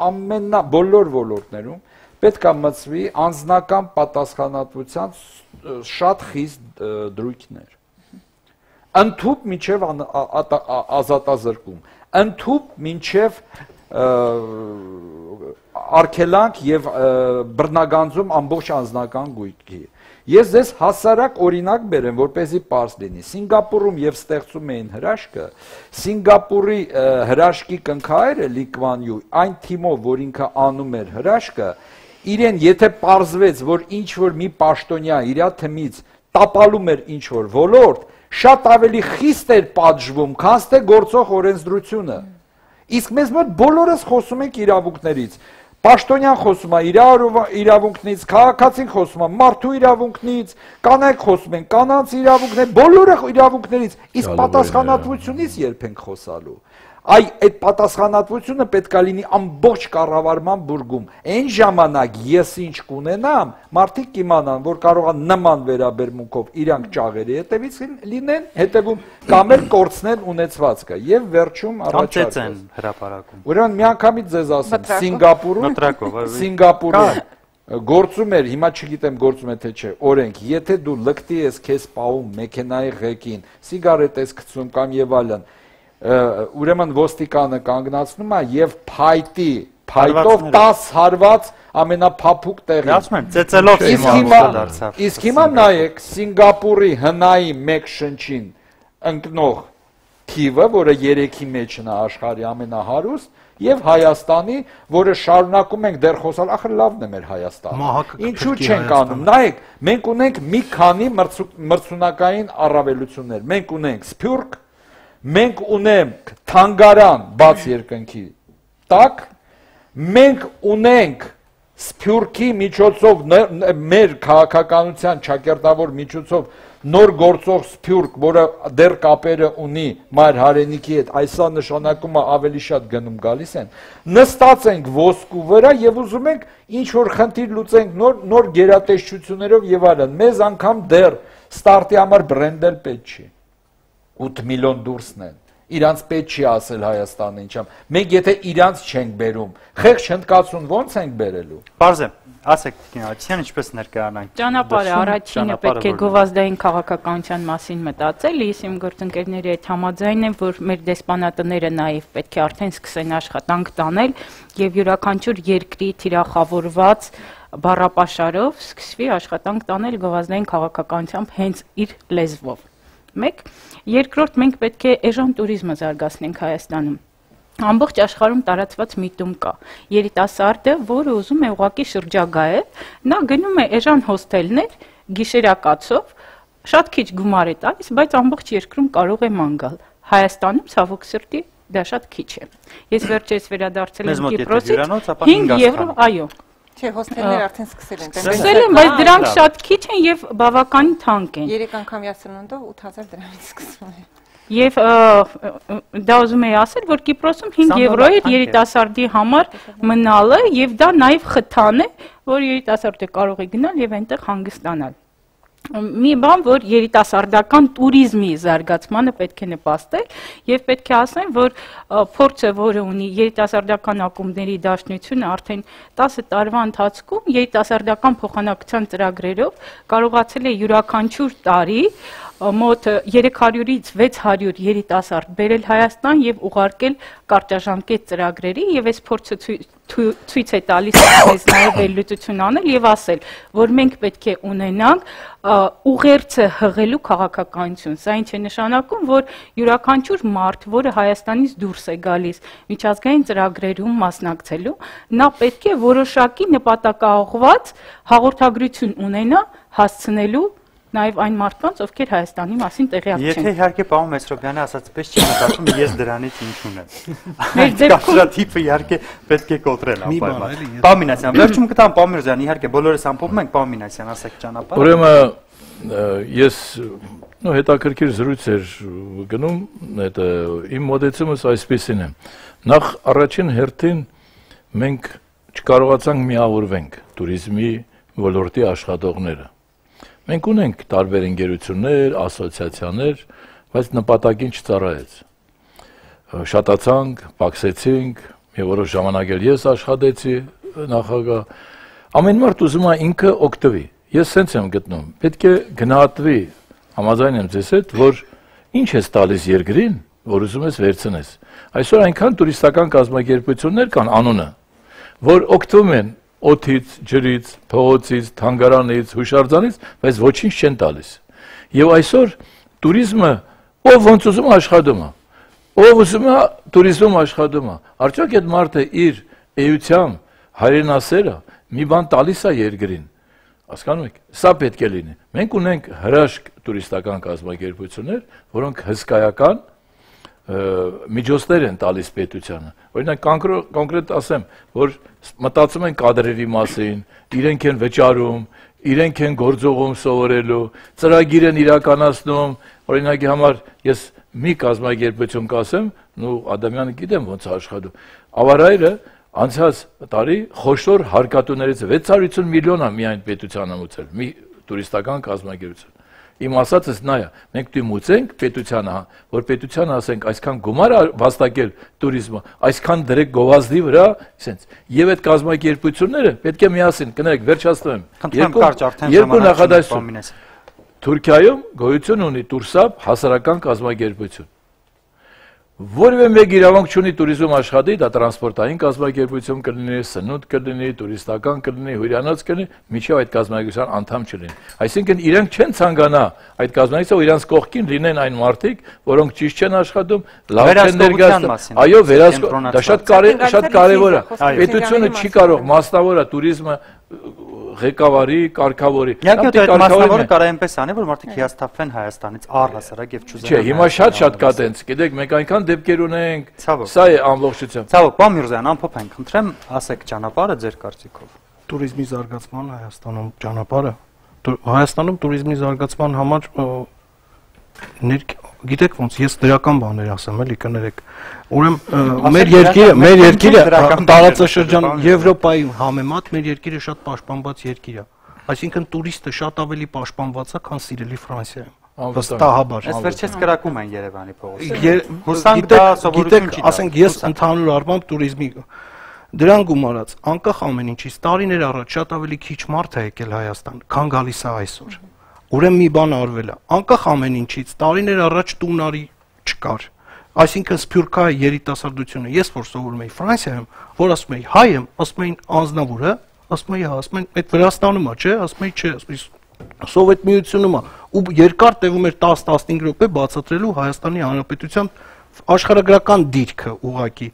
բոլոր ոլորտներում պետք է մտցվի անձնական պատասխանատվության շատ խիստ դրույթներ։ Ընդհուպ մինչև ազատազրկում, ընդհուպ մինչև արգելանք եւ բռնագանձում ամբողջ անձնական գույքի։ Ես ձեզ հասարակ օրինակ բերեմ, որպեսզի պարզ լինի։ Սինգապուրում եւ ստեղծում էին հրաշքը, Սինգապուրի հրաշքի կնքահայրը Լի Կվան Յու, այն թիմով, որ ինքը անում էր հրաշքը, իրեն եթե պարզվեց, որ ինչ որ մի պաշտոնյա իր թմից տապալում էր ինչ որ ոլորտ, շատ ավելի խիստ էր պատժվում, քան թե գործող օրենսդրությունը։ Իսկ մեզ մոտ բոլորս խոսում ենք իրավունքներից։ Պաշտոնյան խոսում է իրավունքներից, քաղաքացին խոսում է մարդու իրավունքներից, կանայք խոսում են կանանց իրավունքներ, բոլորը իրավունքներից, իսկ պատասխանատվությունից երբ ենք խոսալու։ այդ պատասխանատվությունը պետք է լինի ամբողջ կառավարման բուրգում։ Այն ժամանակ ես ինչ կունենամ, մարդիկ կիմանան, որ կարող է նման վերաբերմունքով իրանք ճաղերի հետևից լինեն, հետևում կամ էլ կորցնեն ունեցվածքը եւ վերջում առաջարկեն հրապարակում։ Ուրեմն միանգամից ձեզ ասեմ, Սինգապուրում գործում էր, հիմա չգիտեմ գործում է թե չէ, օրենք, եթե դու լկտի ես քեզ պահում մեքենայի ղեկին, սիգարետ ես գցում կամ եւ այլն, ուրեմն ոստիկանը կանգնացնում է եւ փայտով 10 հարված ամենափափուկ տեղի։ Ասում եմ, ծեծելով Իսկ հիմա նայեք Սինգապուրի հնայի մեկ շնչին ընկնող թիվը, որը 3-ի մեջն է աշխարհի ամենահարուստ, եւ Հայաստանի, որը շարունակում ենք դեռ խոսալ, ախր լավն է մեր Հայաստանը։ Ինչու չենք անում։ Նայեք, մենք ունենք մի քանի մրցունակային առավելություններ։ Մենք ունենք Սփյուռք, մենք ունենք թանգարան բաց երկնքի տակ, մենք ունենք Սփյուռքի միջոցով մեր քաղաքականության ճակերտավոր միջոցով նոր գործող Սփյուռք, որը դեռ կապերը ունի մայր հայրենիքի հետ, այսա նշանակում է ավելի շատ գնում գալիս են, նստած ենք ոսկու վրա եւ ուզում ենք ինչ որ խնդիր լուծենք նոր գերատեսչություններով եւ այլն։ Մեզ անգամ դեռ ստարտի համար բրենդել պետք չի։ 8 միլիոն դուրսն են։ Իրանց պետք չի ասել Հայաստանը ինչամ։ Մենք եթե իրանց չենք բերում, խեղճ հնդկացուն ոնց ենք բերելու։ Պարզ է, ասեք Տիկին ինչպես ներկայանանք։ Ճանապարհը առաջինը պետք է գովազդային քաղաքականության մասին մտածել, ես իմ գործընկերների հետ համաձայն եմ, որ մեր դեսպանատները նաև պետք է արդեն սկսեն աշխատանք տանել եւ յուրաքանչյուր երկրի թիրախավորված բառապաշարով սկսվի աշխատանք տանել գովազդային քաղաքականությամբ հենց իր լեզվով։ Մեկ, երկրորդ մենք պետք է էժան տուրիզմը զարգացնենք Հայաստանում։ Ամբողջ աշխարհում տարածված միտում կա։ Երիտասարդը, որը ուզում է ուղղակի շրջագայել, նա գնում է էժան հոսթելներ, գիշերակացով, շատ քիչ գումար է տալիս, բայց ամբողջ երկրում կարող է ման գալ։ Հայաստանում ցավոք սրտի դա շատ քիչ է։ Ես վերջերս վերադարձել եմ Կիպրոսից 5 եվրո, այո։ Չէ, հոսթելներ արդեն սկսել են։ Սկսել են, բայց դրանք շատ քիչ են եւ բավականին թանկ են։ 3 անգամյա սնունդով 8000 դրամից սկսվում է։ Եվ դա ուզում եի ասել, որ Կիպրոսում 5 եվրո է երիտասարդի համար մնալը եւ դա նաեւ խթան է, որ երիտասարդը կարող է գնալ եւ այնտեղ հանգստանալ։ Մի բան, որ երիտասարդական туриզմի զարգացմանը պետք է նպաստել եւ պետք է ասեմ, որ փորձը, որը ունի երիտասարդական ակումբների դաշնությունը արդեն 10 տարվա ընթացքում երիտասարդական փոխանակության ծրագրերով կարողացել է յուրաքանչյուր տարի մոտ 300-ից 600 երիտասարդ բերել Հայաստան եւ ուղարկել կարճաժամկետ ծրագրերի եւ այս փորձը ցույց է տալիս մեզ նաեւ վերլուծություն անել եւ ասել, որ մենք պետք է ունենանք ուղերձը հղելու քաղաքականություն։ Սա ինչ է նշանակում, որ յուրաքանչյուր մարդ, որը Հայաստանից դուրս է գալիս միջազգային ծրագրերում մասնակցելու, նա պետք է որոշակի նպատակաուղղված հաղորդագրություն ունենա հասցնելու նաև այն մարդկանց, ովքեր Հայաստանի մասին տեղյակ չեն։ Եթե իհարկե պարոն Մեսրոպյանը ասածպես չի մտածում, ես դրանից ինչ ունեմ։ Մեր դեպքում տիպը իհարկե պետք է կոտրել անպայման։ Պարոն Մինասյան, վերջում կտամ պարոն Միրզոյան, իհարկե բոլորս ամփոփում ենք, պարոն Մինասյան, ասեք ճանապարհը։ Ուրեմն ես հետաքրքիր զրույց էր գնում, այդ իմ մոտեցումս այսպեսին է։ Նախ առաջին հերթին մենք չկարողացանք միավորվենք туриզմի ոլորտի աշխատողները։ Մենք ունենք տարբեր ընկերություններ, ասոցիացիաներ, բայց նպատակին չծառայեց։ Շատացանք, պակսեցինք, մի որոշ ժամանակ էլ ես աշխատեցի նախագահ։ Ամեն մարդ ուզում է ինքը օգտվի։ Ես սենց եմ գտնում։ Պետք է գնահատվի, համաձայն եմ ձեզ հետ, որ ինչ ես տալիս երկրին, որ ուզում ես վերցնես։ Այսօր այնքան տուրիստական կազմակերպություններ կան անունը, որ օգտվում են օդից, ջրից, փողոցից, թանգարանից, հուշարձանից, բայց ոչինչ չեն տալիս։ Եվ այսօր туриզմը ով ոնց ուզում աշխատում է, ով ուզում է туриզմում աշխատում է։ Արդյոք այդ մարդը իր էությամբ հայրենասերը մի բան տալիս է երկրին։ Հասկանում եք, սա պետք է լինի։ Մենք ունենք հրաշք տուրիստական կազմակերպություններ, որոնք հսկայական միջոցներ են տալիս պետությանը։ Օրինակ կոնկրետ ասեմ, որ մտածում են կադրերի մասին, իրենք են վճարում, իրենք են գործողում սովորելու, ծրագիր են իրականացնում, օրինակի համար ես մի կազմակերպություն կասեմ, նու Ադամյանը գիտեմ ոնց է աշխատում։ Ավարայրը անցած տարի խոշոր հարկատուներից 650 միլիոն է միայն պետության ամուծել, մի տուրիստական կազմակերպություն։ Իմ ասածս նա է, մենք դիմուցենք պետությանը, որ պետությանը ասենք այսքան գումար վաստակել туриզմը, այսքան դրեք գովազդի վրա, ասենց։ Եվ այդ կազմակերպությունները պետք է միասին, կներեք, վերջացնեմ։ Երկու նախադասություն։ Թուրքիայում գոյություն ունի Տուրսապ հասարակական կազմակերպություն։ Որևէ մեկ իրավունք չունի туриզմ աշխատի, դա տրանսպորտային կազմակերպություն կլինի, սնունդ կլինի, տուրիստական կլինի, հյուրանոց կլինի, միջև այդ կազմակերպության անդամ չլինի։ Այսինքն իրենք չեն ցանկանա այդ կազմակերպությունը, իրանց կողքին լինեն այն մարդիկ, որոնք ճիշտ չեն աշխատում, լավ չեն ներկայացնում։ Այո, դա շատ կարևոր է։ Պետությունը չի կարող մասնավորը туриզմը ղեկավարի, կարգավորի։ Իհարկե այդ մասնավորը կարող է այնպես անի, որ մարդիկ հիասթափվեն Հայաստանից առհասարակ եւ չուզեն։ Չէ, հիմա շատ կա տենց, գիտեք, մենք այնքան դեպքեր ունենք, սա է ամբողջությամբ։ Ցավոք, պարոն Միրզոյան, ամփոփենք, խնդրեմ, ասեք ճանապարհը ձեր կարծիքով։ Տուրիզմի զարգացման Հայաստանում ճանապարհը Հայաստանում տուրիզմի զարգացման համար գիտեք ոնց ես դրական բաներ ասեմ, էլի կներեք։ Ուրեմն մեր երկիրը տարածաշրջան Եվրոպայի համեմատ մեր երկիրը շատ պաշտպանված երկիր է։ Այսինքն տուրիստը շատ ավելի պաշտպանված է, քան սիրելի Ֆրանսիայում։ Վստահաբար։ Այս վերջերս կրակում են Երևանի փողոցը։ Հուսանք դա սովորություն չի։ Ասենք ես ընդհանուր առմամբ տուրիզմի դրան գումարած անկախ ամեն ինչից տարիներ առաջ շատ ավելի քիչ մարդ է եկել Հայաստան, քան գալիս է այսօր։ Ուրեմն մի բան արվել է, անկախ ամեն ինչից տարիներ առաջ տունարի չկար։ Այսինքն սփյուռքահայ երիտասարդությունը, ես որ սովորում էի Ֆրանսիայում, որ ասում էի հայ եմ, ասում էին անձնավոր է, ասում էի հա, ասում են այդ Վրաստանում է, չէ, ասում էի չէ, ասում էի Սովետ միությունում է, ու երկար տևում էր 10-15 րոպե բացատրելու Հայաստանի Հանրապետության աշխարհագրական դիրքը ուղակի։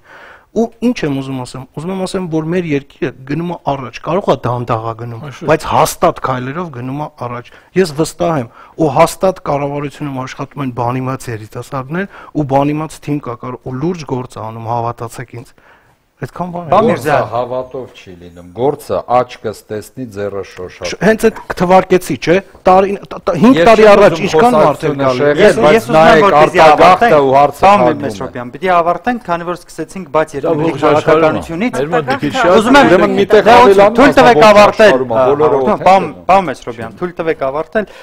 Ու ինչ եմ ուզում ասեմ, որ մեր երկիրը գնում է առաջ, կարող է դանդաղա գնում, բայց հաստատ քայլերով գնում է առաջ։ Ես վստահ եմ, ու հաստատ կառավարությունում աշխատում են բանիմաց երիտասարդներ, ու բանիմաց թիմ կա կարող, ու լուրջ գործ անում, հավատացեք ինձ։ Այդքան բան է։ Գործը հավատով չի լինում։ Գործը աչքս տեսնի, ձեռը շոշափ։ Հենց այդ թվարկեցի, չէ՞։ 5 տարի առաջ ինչքան մարդ էր գալու։ Ես ուզում եմ որ արտագաղթը ու հարցը Մեսրոպյան, պիտի ավարտենք, քանի որ սկսեցինք բաց երկրի քաղաքականությունից։ Ուզում եմ ուրեմն մի տեղ ավելանում, թույլ տվեք ավարտել։ Պարոն Մեսրոպյան, թույլ տվեք ավարտել։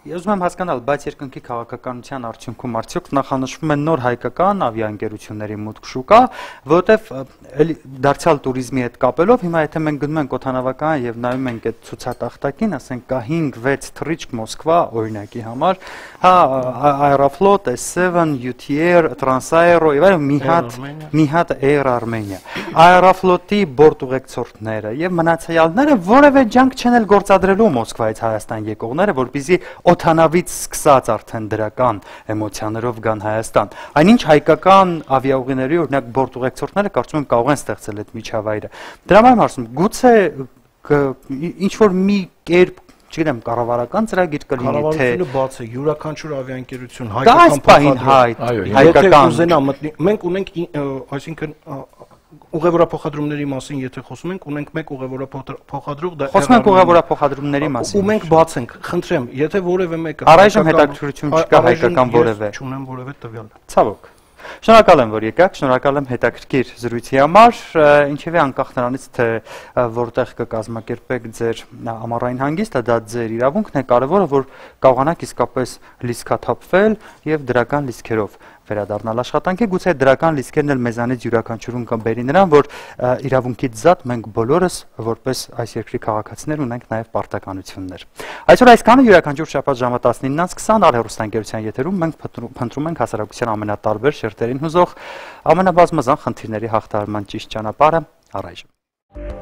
Ես ուզում եմ հասկանալ, բայց երկնքի քաղաքականության արդյունքում արդյոք նախանշվում են նոր հայկական ավիաընկերությունների մուտք շուկա, որովհետև դարձյալ туриզմի հետ կապելով հիմա եթե մենք գնում ենք օդանավական եւ նայում ենք այդ ցուցատախտակին, ասենք կա 5-6 թռիչք Մոսկվա օրինակի համար, հա Aeroflot, S7, UTR, Transaero եւ այլն մի հատ Air Armenia։ Aeroflot-ի բորտուղեկցորդները եւ մնացյալները որևէ ջանք չեն էլ գործադրելու Մոսկվայից Հայաստան եկողները, որպեսզի օդանավից սկսած արդեն դրական էմոցիաներով գան Հայաստան։ Այնինչ հայկական ավիաուղիների օրինակ բորտուղեկցորդները կարծում եմ կարող են ստեղծել այդ միջավայրը։ Դրա համար ասում, գուցե ինչ որ մի կերպ, չգիտեմ, կառավարական ծրագիր կլինի թե կառավարությունը բաց է, յուրաքանչյուր ավիաընկերություն հայկական ուզենա մտնի։ Մենք ունենք, այսինքն ուղևորափոխադրումների մասին եթե խոսում ենք, ունենք մեկ ուղևորափոխադրող, դա խոսում ենք ուղևորափոխադրումների մասին։ Ու մենք բաց ենք, խնդրեմ, եթե որևէ մեկը առայժմ հետաքրքրություն չկա հայկական որևէ։ Չունեմ որևէ տվյալ։ Ցավոք։ Շնորհակալ եմ, որ եկաք, շնորհակալ եմ հետաքրքիր զրույցի համար, ինչևէ անկախ նրանից, թե որտեղ կկազմակերպեք ձեր ամառային հանգիստը, դա ձեր իրավունքն է, կարևորը, որ կարողանաք իսկապես լիցքաթափվել եւ դրական լիցքերով վերադառնալ աշխատանքի, գուցե դրական լիցքերն էլ մեզանից յուրաքանչյուրում կբերի նրան, որ իրավունքից զատ մենք բոլորս որպես այս երկրի քաղաքացիներ ունենք նաև պարտականություններ։ Այսօր այսքանը, յուրաքանչյուր շաբաթ ժամը 19-ից 20 արհերոստանգերության եթերում մենք փնտրում ենք հասարակության ամենատարբեր շերտերին հուզող ամենաբազմազան խնդիրների հաղթահարման ճիշտ ճանապարհը առայժմ։